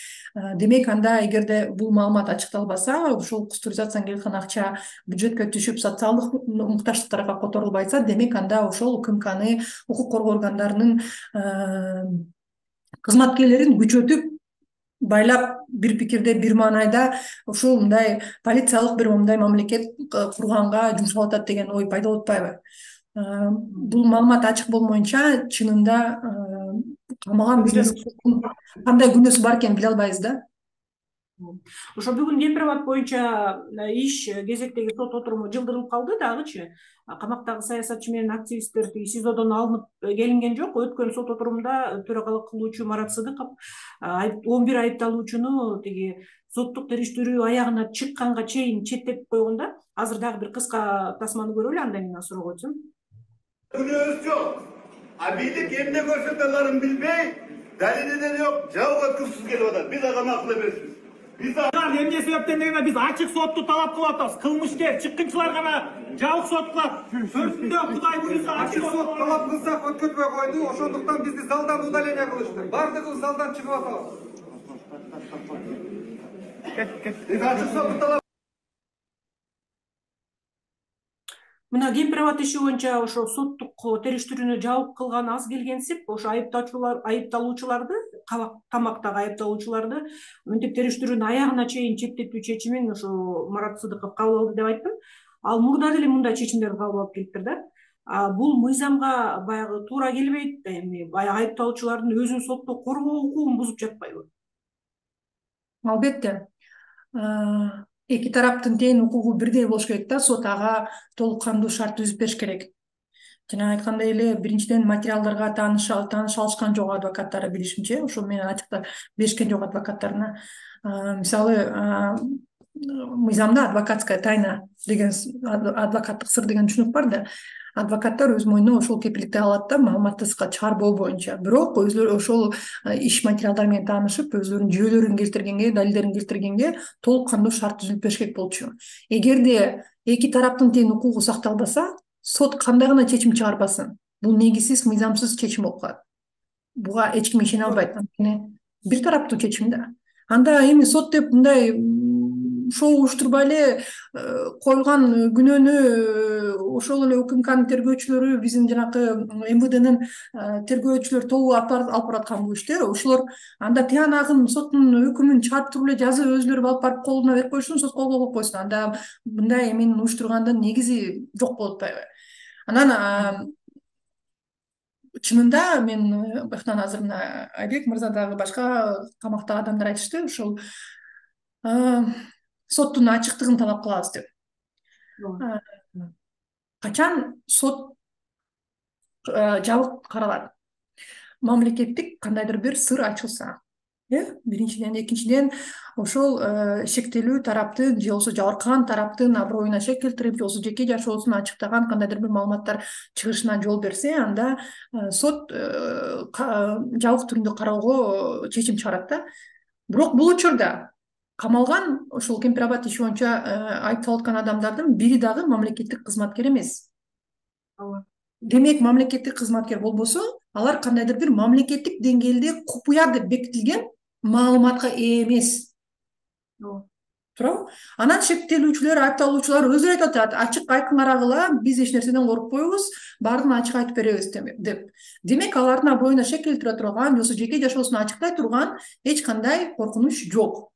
Демек, анда эгерде бул маалымат ачыкталбаса, ушул кустуризацияга келген акча бюджетке түшүп, социалдык муктаждыктарга которулбайса, демек анда ошол УКМКны, укук коргоо органдарынын кызматкерлерин күчөтүп, байлап, бир пикирде, бир маанайда ушул мындай полициялык бир мындай мамлекет курганга жумшалып атат деген ой пайда болуп атпайбы? Бул маалымат ачык болмоюнча, чынында камалган бизнес кандай күнөөсү бар экенин биле албайбыз да. Ошо бүгүн Демпирабад боюнча иш кезектеги сот отуруму жылдырылып калды дагычы. Камактагы саясатчы менен активисттер СИЗОдон алынып келинген жок. Өткөн сот отурумда төрагалык кылуучу Марат Сыдыков он бир айыпталуучуну тиги соттук териштирүү аягына чыкканга чейин четтетип койгон да. Азыр дагы бир кыска тасманы көрөлү, андан кийин суроо койсун. Күнөөсү жок. А бийлик эмне көрсөтөлөрүн билбей, далили деле жок, жабык өткүрсүз келип атат. Биз ага макул эмеспиз. Биз эмне себептен дегенде биз ачык сотту талап кылып атабыз. Кылмышкер, чыккынчылар гана жабык сот кылат. Төртүндө Кудай буйруса ачык сот талап кылсак өткөрбөй койду. Ошондуктан бизди залдан удаление кылышты. Бардыгыбыз залдан чыгып атабыз. Биз ачык сотту талап Мына Кемпирабад иши боюнча ошо соттук териштирүүнү жабык кылган аз келгенсип, ошо айыпталуучулар айыпталуучуларды камактагы айыпталуучуларды мынтип териштирүүнүн аягына чейин чектетүү чечимин ошо Марат Сыдыков кабыл алды деп айттым. Ал мурда деле мындай чечимдерди кабыл алып келиптир да. Бул мыйзамга баягы туура келбейт, эми баягы айыпталуучулардын өзүн сотто коргоо укугун бузуп жатпайбы? Албетте. Эки тараптын тең укугу бирдей болуш керек да, сот ага толук кандуу шарт түзүп бериш керек. Жана айткандай эле, биринчиден материалдарга тааныш тааныш алышкан жок адвокаттары билишимче, ошо менен ачыктап беришкен жок адвокаттарына. Мисалы, мыйзамда адвокатская тайна деген, адвокаттык сыр деген түшүнүк бар да. Адвокаттар өз мойнуна ошол кепилдикти алат да, маалыматты чыгарбоо боюнча. Бирок өзлөрү ошол иш материалдары менен таанышып, өзлөрүнүн жүйөлөрүн келтиргенге, далилдерин келтиргенге толук кандуу шарт түзүп бериш керек болчу. Эгерде эки тараптын тең укугу сакталбаса, сот кандай гана чечим чыгарбасын, бул негизсиз, мыйзамсыз чечим болуп калат. Буга эч ким ишене албайт. Анткени бир тараптуу чечим да. Анда эми сот деп мындай шоу уюштурбай эле коюлган күнөөнү ошол эле УКМКнын тергөөчүлөрү, биздин жанакы эм вэ дэнин тергөөчүлөр тобу алып бараткан бул ишти. Ошолор анда тиянагын соттун өкүмүн чыгарып туруп эле жазып өзүлөрү алып барып колуна берип койсун, сот кол коюп койсун. Анда мындай эмени уюштургандын негизи жок болуп атпайбы? Анан чынында мен быяктан азыр мына Айбек мырза дагы башка камактагы адамдар айтышты, ошол соттун ачыктыгын талап кылабыз деп. Качан сот жабык каралат? Мамлекеттик кандайдыр бир сыр ачылса, э биринчиден, экинчиден ошол шектелүү тараптын же болбосо жабыркаган тараптын аброюна шек келтирип, же болбосо жеке жашоосун ачыктаган кандайдыр бир маалыматтар чыгышына жол берсе, анда сот жабык түрүндө кароого чечим чыгарат да. Бирок бул учурда камалган ошол Кемпирабад иши боюнча айыпталып аткан адамдардын бири дагы мамлекеттик кызматкер эмес. Демек, мамлекеттик кызматкер болбосо, алар кандайдыр бир мамлекеттик деңгээлде купуя деп бекитилген маалыматка ээ эмес. Туурабы? Анан шектелүүчүлөр, айыпталуучулар өзүлөрү айтып атат, ачык айкын карагыла, биз эч нерседен коркпойбуз, баарын ачык айтып беребиз деп. Демек, алардын аброюна шек келтире турган, же болбосо жеке жашоосун ачыктай турган эч кандай коркунуч жок.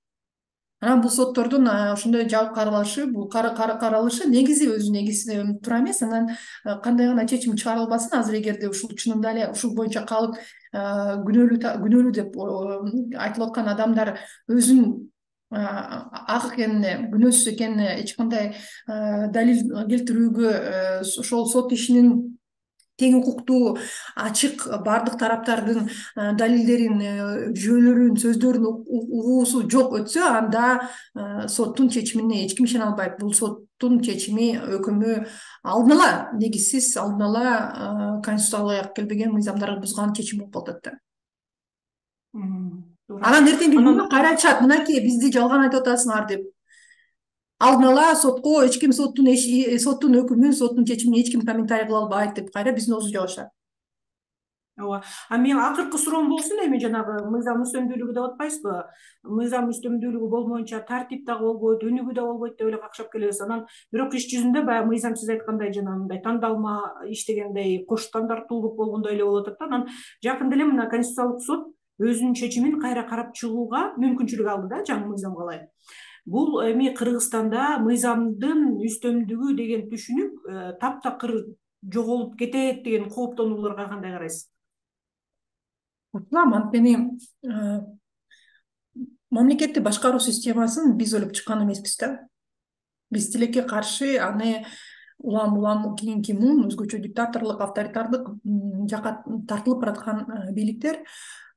Анан бул соттордун ошондой жабык каралышы, бул каралышы негизи өзү негизи туура эмес. Анан кандай гана чечим чыгарылбасын, азыр эгерде ушул чынында эле ушул боюнча калып күнөөлүү күнөөлүү деп айтылып аткан адамдар өзүнүн ак экенине, күнөөсүз экенине эч кандай далил келтирүүгө, ошол сот ишинин тең укуктуу, ачык, бардык тараптардын далилдерин, жүйөлөрүн, сөздөрүн угуусу жок өтсө, анда соттун чечимине эч ким ишене албайт. Бул соттун чечими, өкүмү алдын ала негизсиз, алдын ала конституцияга аяк келбеген, мыйзамдарды бузган чечим болуп калат да. Анан эртеңки күнү кайра айтышат, мынакей бизди жалган айтып атасыңар деп. Алдын ала сотко эч ким соттун соттун өкүмүн, соттун чечимин эч ким комментарий кыла албайт деп кайра биздин оозу жабышат. Ооба. А мен акыркы суроом болсун, эми жанагы мыйзам үстөмдүүлүгү деп атпайсызбы? Мыйзам үстөмдүүлүгү болмоюнча тартип дагы болбойт, өнүгүү да болбойт деп эле какшап келебиз. Анан бирок иш жүзүндө баягы мыйзам сиз айткандай жанагындай тандалма иштегендей, кош стандарттуулук болгондой эле болуп атат да. Анан жакында эле мына Конституциялык суд өзүнүн чечимин кайра карап чыгууга мүмкүнчүлүк алды да, жаңы мыйзамга ылайык. Бул эми Кыргызстанда мыйзамдын үстөмдүгү деген түшүнүк таптакыр жоголуп кетет деген кооптонууларга кандай карайсыз? Кутулам, анткени мамлекетти башкаруу системасын биз ойлоп чыккан эмеспиз да. Биз тилекке каршы аны улам улам кийинки муун өзгөчө диктаторлук, авторитардык жакка тартылып бараткан бийликтер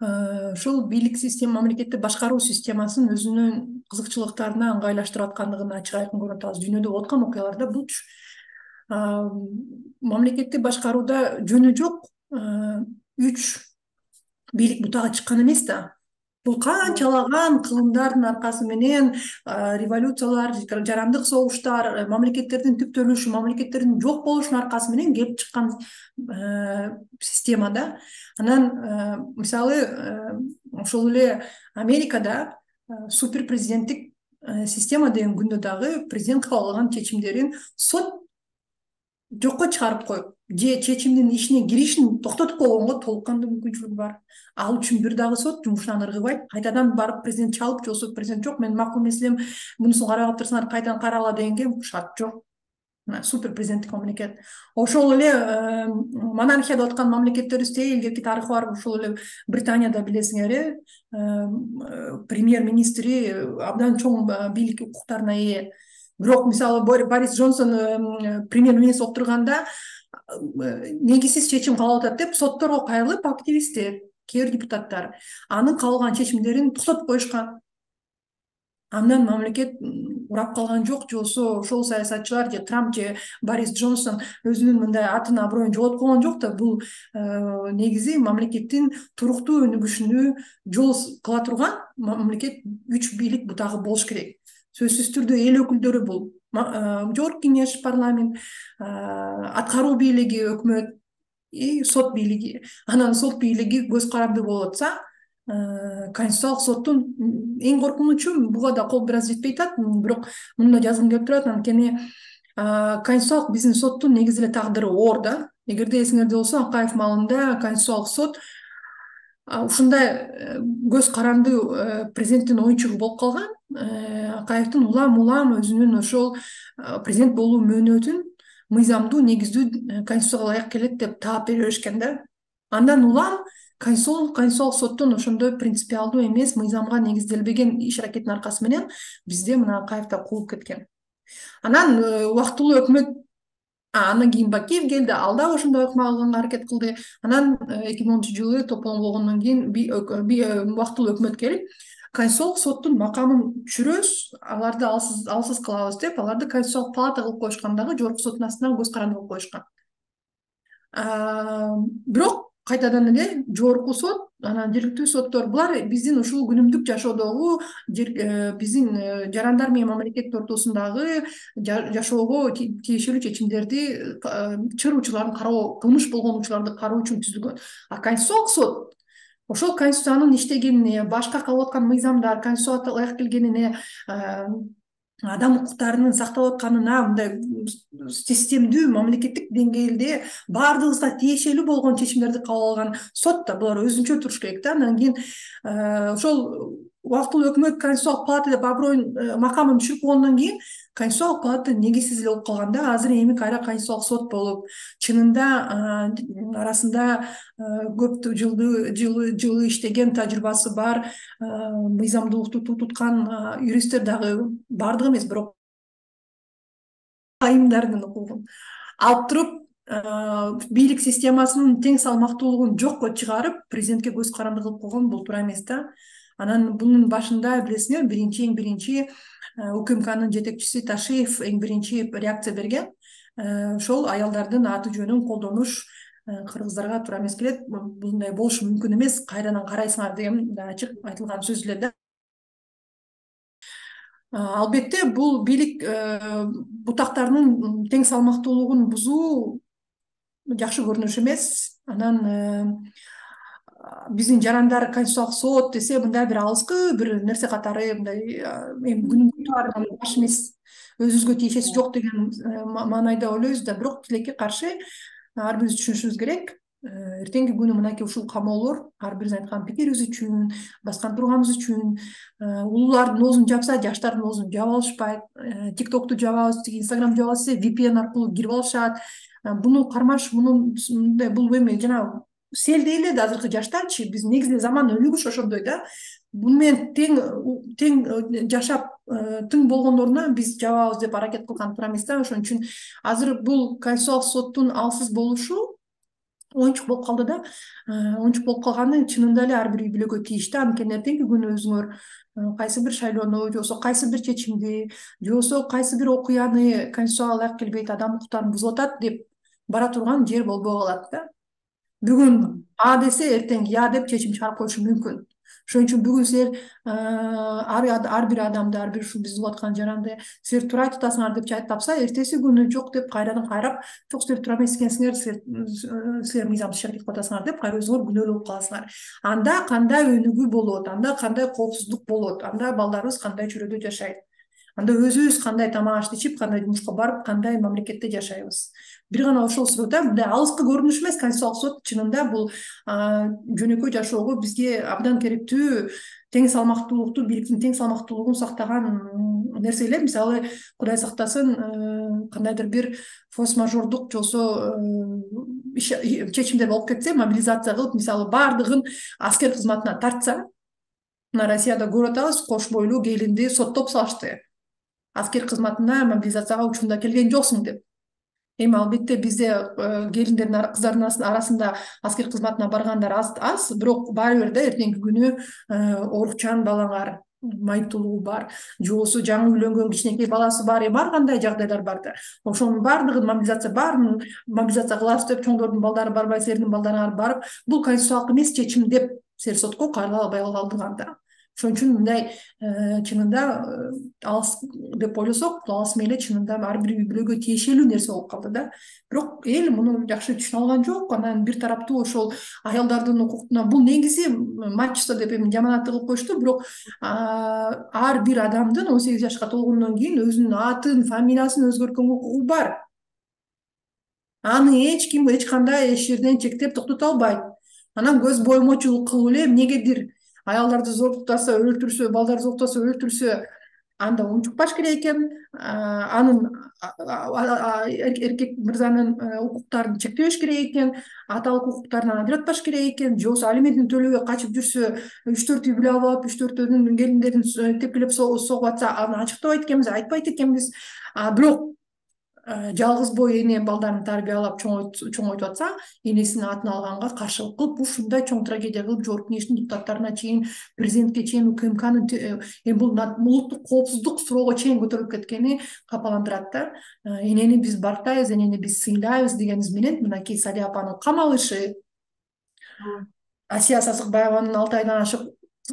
ушул бийлик система, мамлекетти башкаруу системасын өзүнүн кызыкчылыктарына ыңгайлаштырып аткандыгын ачык айкын көрүп атабыз. Дүйнөдө болуп аткан окуяларда булчу. Мамлекетти башкарууда жөнү жок үч бийлик бутага чыккан эмес да. Бул канчалаган кылымдардын аркасы менен, революциялар, жарандык согуштар, мамлекеттердин түптөлүшү, мамлекеттердин жок болушунун аркасы менен келип чыккан системада. Анан мисалы ошол эле Америкада суперпрезиденттик система деген күндө дагы президент кабыл алган чечимдерин сот жокко чыгарып коюп же чечимдин ишине киришин токтотуп койгонго толук кандуу мүмкүнчүлүгү бар. Ал үчүн бир дагы сот жумушунан ыргыбайт, кайтадан барып президент чалып, же болбосо президент жок, менин макул маселем, мунусун карап атырсыңар, кайтадан карагыла дегенге шарт жок. Супер президенттик мамлекет. Ошол эле монархия деп аткан мамлекеттерибизде илгерки тарыхы бар. Ошол эле Британияда билесиңер, премьер-министри абдан чоң бийлик укуктарына ээ. Бирок мисалы Борис Джонсон премьер-министр болуп турганда негизсиз чечим кабыл атат деп сотторго кайрылып, активисттер, кээ бир депутаттар анын кабыл алган чечимдерин токтотуп коюшкан. Андан мамлекет урап калган жок, же болбосо ошол саясатчылар же Трамп же Борис Джонсон өзүнүн мындай атын аброюн жоготуп койгон жок да. Бул негизи мамлекеттин туруктуу өнүгүшүнө жол кыла турган мамлекет күч бийлик бутагы болуш керек. Сөзсүз түрдө эл өкүлдөрү бул жогорку кеңеш, парламент, аткаруу бийлиги, өкмөт и сот бийлиги. Анан сот бийлиги көз каранды болуп атса, Конституциялык соттун эң коркунучу, буга да кол бир аз жетпей атат, бирок муну да жазгым келип турат. Анткени Конституциялык биздин соттун негизи эле тагдыры оор да. Эгерде эсиңерде болсо, Акаев маалында Конституциялык сот ушундай көз каранды президенттин оюнчугу болуп калган. Акаевдин улам улам өзүнүн ошол президент болуу мөөнөтүн мыйзамдуу, негиздүү, конституцияга ылайык келет деп таап бере беришкен да. Андан улам Конституциялык соттун ошондой принципиалдуу эмес, мыйзамга негизделбеген иш аракетинин аркасы менен бизде мына Акаев да куулуп кеткен. Анан убактылуу өкмөт, андан кийин Бакиев келди, ал да ошондой өкмө алганга аракет кылды. Анан эки миң онунчу жылы тополон болгондон кийин убактылуу өкмөт келип, Конституциялык соттун макамын түшүрөбүз, аларды алсыз алсыз кылабыз деп, аларды Конституциялык палата кылып коюшкан, дагы жогорку соттун астынан көз каранды кылып коюшкан. Бирок кайтадан эле жогорку сот, анан жергиликтүү соттор, булар биздин ушул күнүмдүк жашоодогу, биздин жарандар менен мамлекет ортосундагы жашоого тиешелүү чечимдерди, чыр учурларын кароо, кылмыш болгон учурларды кароо үчүн түзүлгөн. А Конституциялык сот ошол Конституциянын иштегенине, башка кабыл аткан мыйзамдар, Конституцияга ылайык келгенине, адам укуктарынын сакталып атканына, мындай системдүү мамлекеттик деңгээлде баардыгыбызга тиешелүү болгон чечимдерди кабыл алган сот да, булар өзүнчө туруш керек да. Андан кийин ошол убактылуу өкмөт Конституциялык палата деп аброюн, макамын түшүрүп койгондон кийин Конституциялык палата негизсиз эле болуп калганда, азыр эми кайра Конституциялык сот болуп, чынында арасында көп жылды жылы иштеген, тажрыйбасы бар, мыйзамдуулукту туткан юристтер дагы баардыгы эмес, бирок айымдардын укугун алып туруп, бийлик системасынын тең салмактуулугун жокко чыгарып, президентке көз каранды кылып койгон бул туура эмес да. Анан бунун башында билесиңер, биринчи эң биринчи УКМКнын жетекчиси Ташиев эң биринчи реакция берген. Ошол аялдардын аты жөнүн колдонуш кыргыздарга туура эмес келет, мындай болушу мүмкүн эмес, кайрадан карайсыңар деген ачык айтылган сөз эле да. Албетте бул бийлик бутактарынын тең салмактуулугун бузуу жакшы көрүнүш эмес. Анан биздин жарандар Конституциялык сот десе, мындай бир алыскы бир нерсе катары, мындай эми күнүмдүк баш эмес, өзүбүзгө тиешеси жок деген маанайда ойлойбуз да. Бирок тилекке каршы ар бирибиз түшүнүшүбүз керек. Эртеңки күнү мынакей ушул камоолор ар бирибиз айткан пикирибиз үчүн, баскан турганыбыз үчүн, улуулардын оозун жапса, жаштардын оозун жаап алышпайт. ТикТокту жабабыз, Инстаграм жабабыз десе, ви пи эн аркылуу кирип алышат. Буну кармаш, муну бул эми жана селдей эле да азыркы жаштарчы, биз негизи заман өнүгүш ошондой да. Буну менен тең тең жашап, тең болгондоруна биз жабабыз деп аракет кылган туура эмес да. Ошон үчүн азыр бул Конституциялык соттун алсыз болушу оюнчук болуп калды да. Оюнчук болуп калганы чынында эле ар бир үй бүлөгө тийиштүү. Анткени эртеңки күнү өзүңөр кайсы бир шайлоону, же болбосо кайсы бир чечимди, же болбосо кайсы бир окуяны Конституцияга ылайык келбейт, адам укуктарын бузуп атат деп бара турган жер болбой калат да. Бүгүн А десе, эртең Я деп чечим чыгарып коюшу мүмкүн. Ошон үчүн бүгүн силер ар бир адамды, ар бир ушул бизди угуп аткан жаранды силер туура айтып атасыңар деп айтып тапса, эртеси күнү жок деп кайрадан кайрап, жок силер туура эмес экенсиңер, силер мыйзамсыз иш аракет кылып атасыңар деп кайра өзүңөр күнөөлүү болуп каласыңар. Анда кандай өнүгүү болот, анда кандай коопсуздук болот, анда балдарыбыз кандай чөйрөдө жашайт. анда өзүбүз кандай тамак ашты ичип, кандай жумушка барып, кандай мамлекетте жашайбыз. Бир гана ошол суроо, мындай алыскы көрүнүш эмес. Конституциялык сот чынында бул жөнөкөй жашоого бизге абдан керектүү тең салмактуулукту, бийликтин тең салмактуулугун сактаган нерселер. Мисалы, Кудай сактасын, кандайдыр бир форс-мажордук же болбосо чечимдер болуп кетсе, мобилизация кылып, мисалы, баардыгын аскер кызматына тартса, мына Россияда көрүп атабыз, кош бойлуу келинди соттоп салышты. Аскер кызматына мобилизацияга учурунда келген жоксуң деп. Эми албетте бизде келиндердин, кыздардын арасында аскер кызматына баргандар аз, бирок баары бир да эртеңки күнү оорукчан балаңар, майыптуулугу бар, же болбосо жаңы үйлөнгөн кичинекей баласы бар, эми ар кандай жагдайлар бар да. Ошонун баардыгын мобилизация баарын мобилизация кылабыз деп чоңдордун балдары барбай, силердин балдарыңар барып, бул конституциялык эмес чечим деп силер сотко кайрыла албай калдыганда. Ошон үчүн мындай чынында алыс деп ойлосок, бул алыс мейли чынында ар бир үй бүлөгө тиешелүү нерсе болуп калды да. Бирок эл муну жакшы түшүнө алган жок. Анан бир тараптуу ошол аялдардын укуктуна бул негизи мачество деп эми жаман аты кылып коюшту, бирок ар бир адамдын он сегиз жашка толгондон кийин өзүнүн атын, фамилиясын өзгөрткөнгө укугу бар. Аны эч ким эч кандай эч жерден чектеп токтото албайт. Анан көз боймочулук кылып эле эмнегедир аялдарды зордуктаса, өлтүрсө, балдарды зордуктаса, өлтүрсө, анда унчукпаш керек экен. Анын эркек мырзанын укуктарын чектебеш керек экен, аталык укуктарынан ажыратпаш керек экен, же болбосо алиментин төлөбөй качып жүрсө, үч төрт үй бүлө алып, үч төртөөнүн келиндерин тепкилеп согуп атса, аны ачыктабайт экенбиз, айтпайт экенбиз. Бирок жалгыз бой эне балдарын тарбиялап чоңойтуп атса, энесинин атын алганга каршылык кылып, ушундай чоң трагедия кылып, жогорку кеңештин депутаттарына чейин, президентке чейин, УКМКнын эми бул улуттук коопсуздук суроого чейин көтөрүлүп кеткени капаландырат да. Энени биз барктайбыз, энени биз сыйлайбыз дегенибиз менен, мынакей Салия апанын камалышы, Асия Сасыкбаеванын алты айдан ашык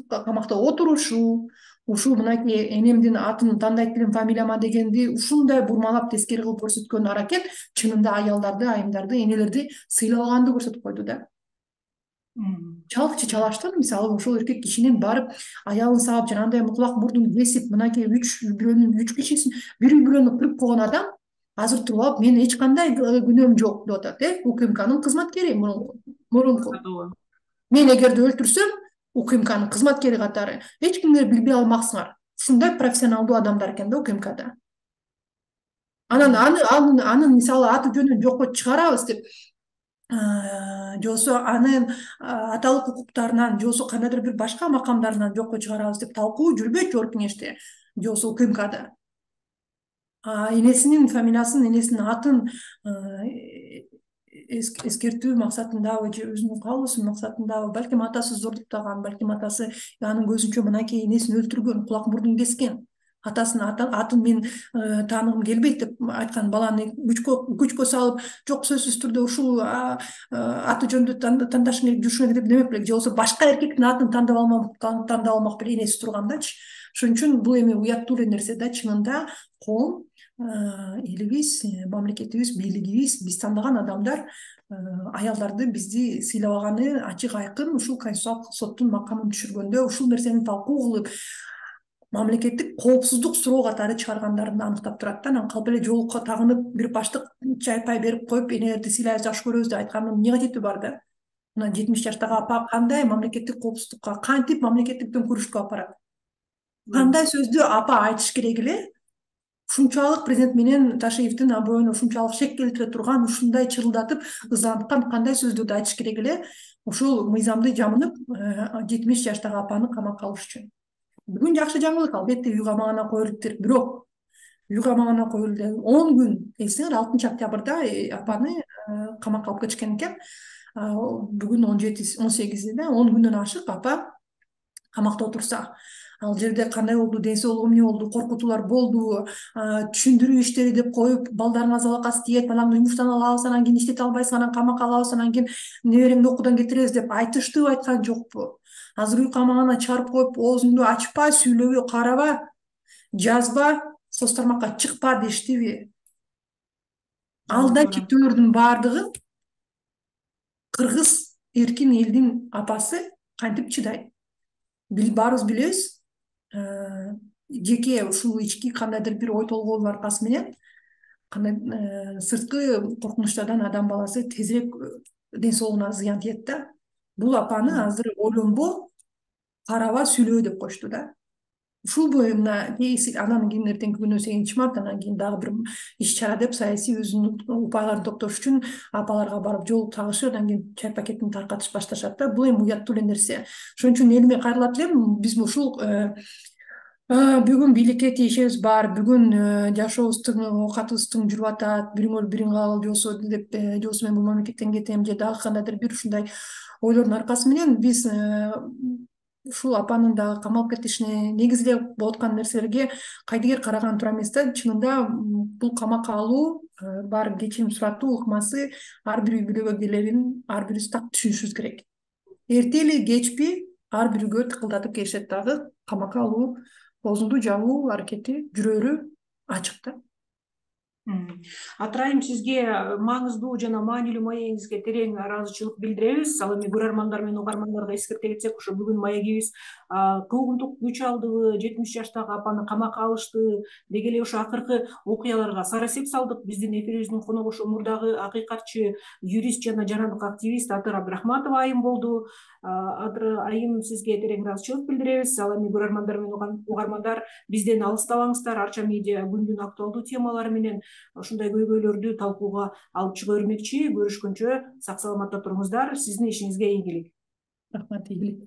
камакта отурушу, ушул мынакей энемдин атын тандайт элем фамилияма дегенди ушундай бурмалап тескери кылып көрсөткөн аракет чынында аялдарды, айымдарды, энелерди сыйлаганды көрсөтүп койду да. Чалыкчы чалаштан, мисалы, ошол эркек кишинин барып аялын саап, жанагындай муклак мурдун кесип, мынакей үч бирөөнүн үч кишисин, бир үй бүлөнү кырып койгон адам азыр туруп алып, мен эч кандай күнөөм жок деп атат, э, УКМКнын кызматкери мурунку. Мен эгерде өлтүрсөм, УКМКнын кызматкери катары эч кимдер билбей алмаксыңар. Ушундай профессионалдуу адамдар экен да УКМКда. Анан аны анын мисалы аты жөнүн жокко чыгарабыз деп, же болбосо анын аталык укуктарынан, же болбосо кандайдыр бир башка макамдарынан жокко чыгарабыз деп талкуу жүрбөйт жогорку кеңеште, же болбосо УКМКда. Энесинин фамилиясын, энесинин атын эскертүү максатындабы, же өзүнүн каалоосу максатындабы, балким атасы зордуктаган, балким атасы анын көзүнчө мынакей энесин өлтүргөн, кулак мурдун кескен, атасынын атын мен тааныгым келбейт деп айткан баланы күчкө салып, жок сөзсүз түрдө ушул аты жөндү тандашың керек, жүрүшүң керек деп демек беле, же болбосо башка эркектин атын тандап алмак, тандап алмак беле энеси тургандачы. Ошон үчүн бул эми уяттуу эле нерсе да, чынында коом, элибиз, мамлекетибиз, бийлигибиз, биз тандаган адамдар аялдарды бизди сыйлабаганы ачык айкын ушул Конституциялык соттун макамын түшүргөндө ушул нерсени талкуу кылып, мамлекеттик коопсуздук суроо катары чыгаргандарын аныктап турат да. Анан калп эле жолукка тагынып, бир баштык чай пай берип коюп, энелерди сыйлайбыз, жакшы көрөбүз деп айткандын эмне кажети бар да? Мына жетимиш жаштагы апа кандай мамлекеттик коопсуздукка, кантип мамлекеттиктен күрөшкө алып барат? Кандай сөздү апа айтыш керек эле? Ушунчалык президент менен Ташиевдин аброюна ушунчалык шек келтире турган, ушундай чырылдатып, ызданткан кандай сөздөрдү айтыш керек эле? Ушул мыйзамды жамынып, жетимиш жаштагы апаны камакка алыш үчүн. Бүгүн жакшы жаңылык, албетте үй камагына коюлуптур, бирок үй камагына коюлду он күн, эсиңер алтынчы октябрда апаны камакка алып кетишкен экен. Бүгүн он жети, он сегизинде он күндөн ашык апа камакта отурса, ал жерде кандай болду, ден соолугу эмне болду, коркутуулар болду, түшүндүрүү иштери деп коюп, балдарыңар залакасы тиет, балаңды жумуштан алабыз, анан кийин иштете албайсың, анан камакка алабыз, анан кийин небереңди окуудан кетиребиз деп айтыштыбы, айткан жокпу? Азыр үй камагына чыгарып коюп, оозуңду ачпа, сүйлөбө, караба, жазба, соц тармакка чыкпа дештиби? Алда чектөөлөрдүн баардыгы кыргыз эркин элдин апасы кантип чыдайт? Баарыбыз билебиз, жеке ушул ички кандайдыр бир ой толгоонун аркасы менен кандай сырткы коркунучтардан адам баласы тезирээк ден соолугуна зыян тиет да. Бул апаны азыр ойлонбо, караба, сүйлөө деп коюшту да. Ушул мына анан кийин эртеңки күнү сегизинчи март анан кийин дагы бир иш чара деп саясий өзүнүн упайларын топтош үчүн апаларга барып жолугуп чагышып, анан кийин чай пакетин таркатыш башташат да. Бул эми уяттуу эле нерсе. Ошон үчүн элиме кайрылат элем, биз ушул бүгүн бийликке тиешебиз бар, бүгүн жашообуздун оокатыбыздын жүрүп атат, бирөңөр бириңи ал жосо деп жосу мен бул мамлекеттен кетем же дагы кандайдыр бир ушундай ойлордун аркасы менен биз ушул апанын дагы камалып кетишине, негизи эле болуп аткан нерселерге кайдыгер караган туура эмес да. Чынында бул камакка алуу, барып кечирим суратуу ыкмасы ар бир үй бүлөгө келерин ар бирибиз так түшүнүшүбүз керек. Эртели кечпи ар бирөөгө тыкылдатып келишет дагы камакка алуу, оозунду жабуу аракети жүрөрү ачык да. Атырайым, сизге маңыздуу жана маанилүү маегиңизге терең ыраазычылык билдиребиз. Ал эми көрөрмандар менен угармандарга эскерте кетсек, ошо бүгүн маегибиз куугунтук күч алдыбы, жетимиш жаштагы апаны камакка алышты деги эле ошо акыркы окуяларга сарасеп салдык. Биздин эфирибиздин коногу ошо мурдагы акыйкатчы, юрист жана жарандык активист Адыр Абдрахматова айым болду. Адыр айым, сизге терең ыраазычылык билдиребиз. Ал эми көрөрмандар менен угармандар бизден алыстабаңыздар. Арча медиа күндүн актуалдуу темалары менен ушундай көйгөйлөрдү талкууга алып чыга бермекчи. Көрүшкөнчө сак саламатта туруңуздар. Сиздин ишиңизге ийгилик. Рахмат, ийгилик.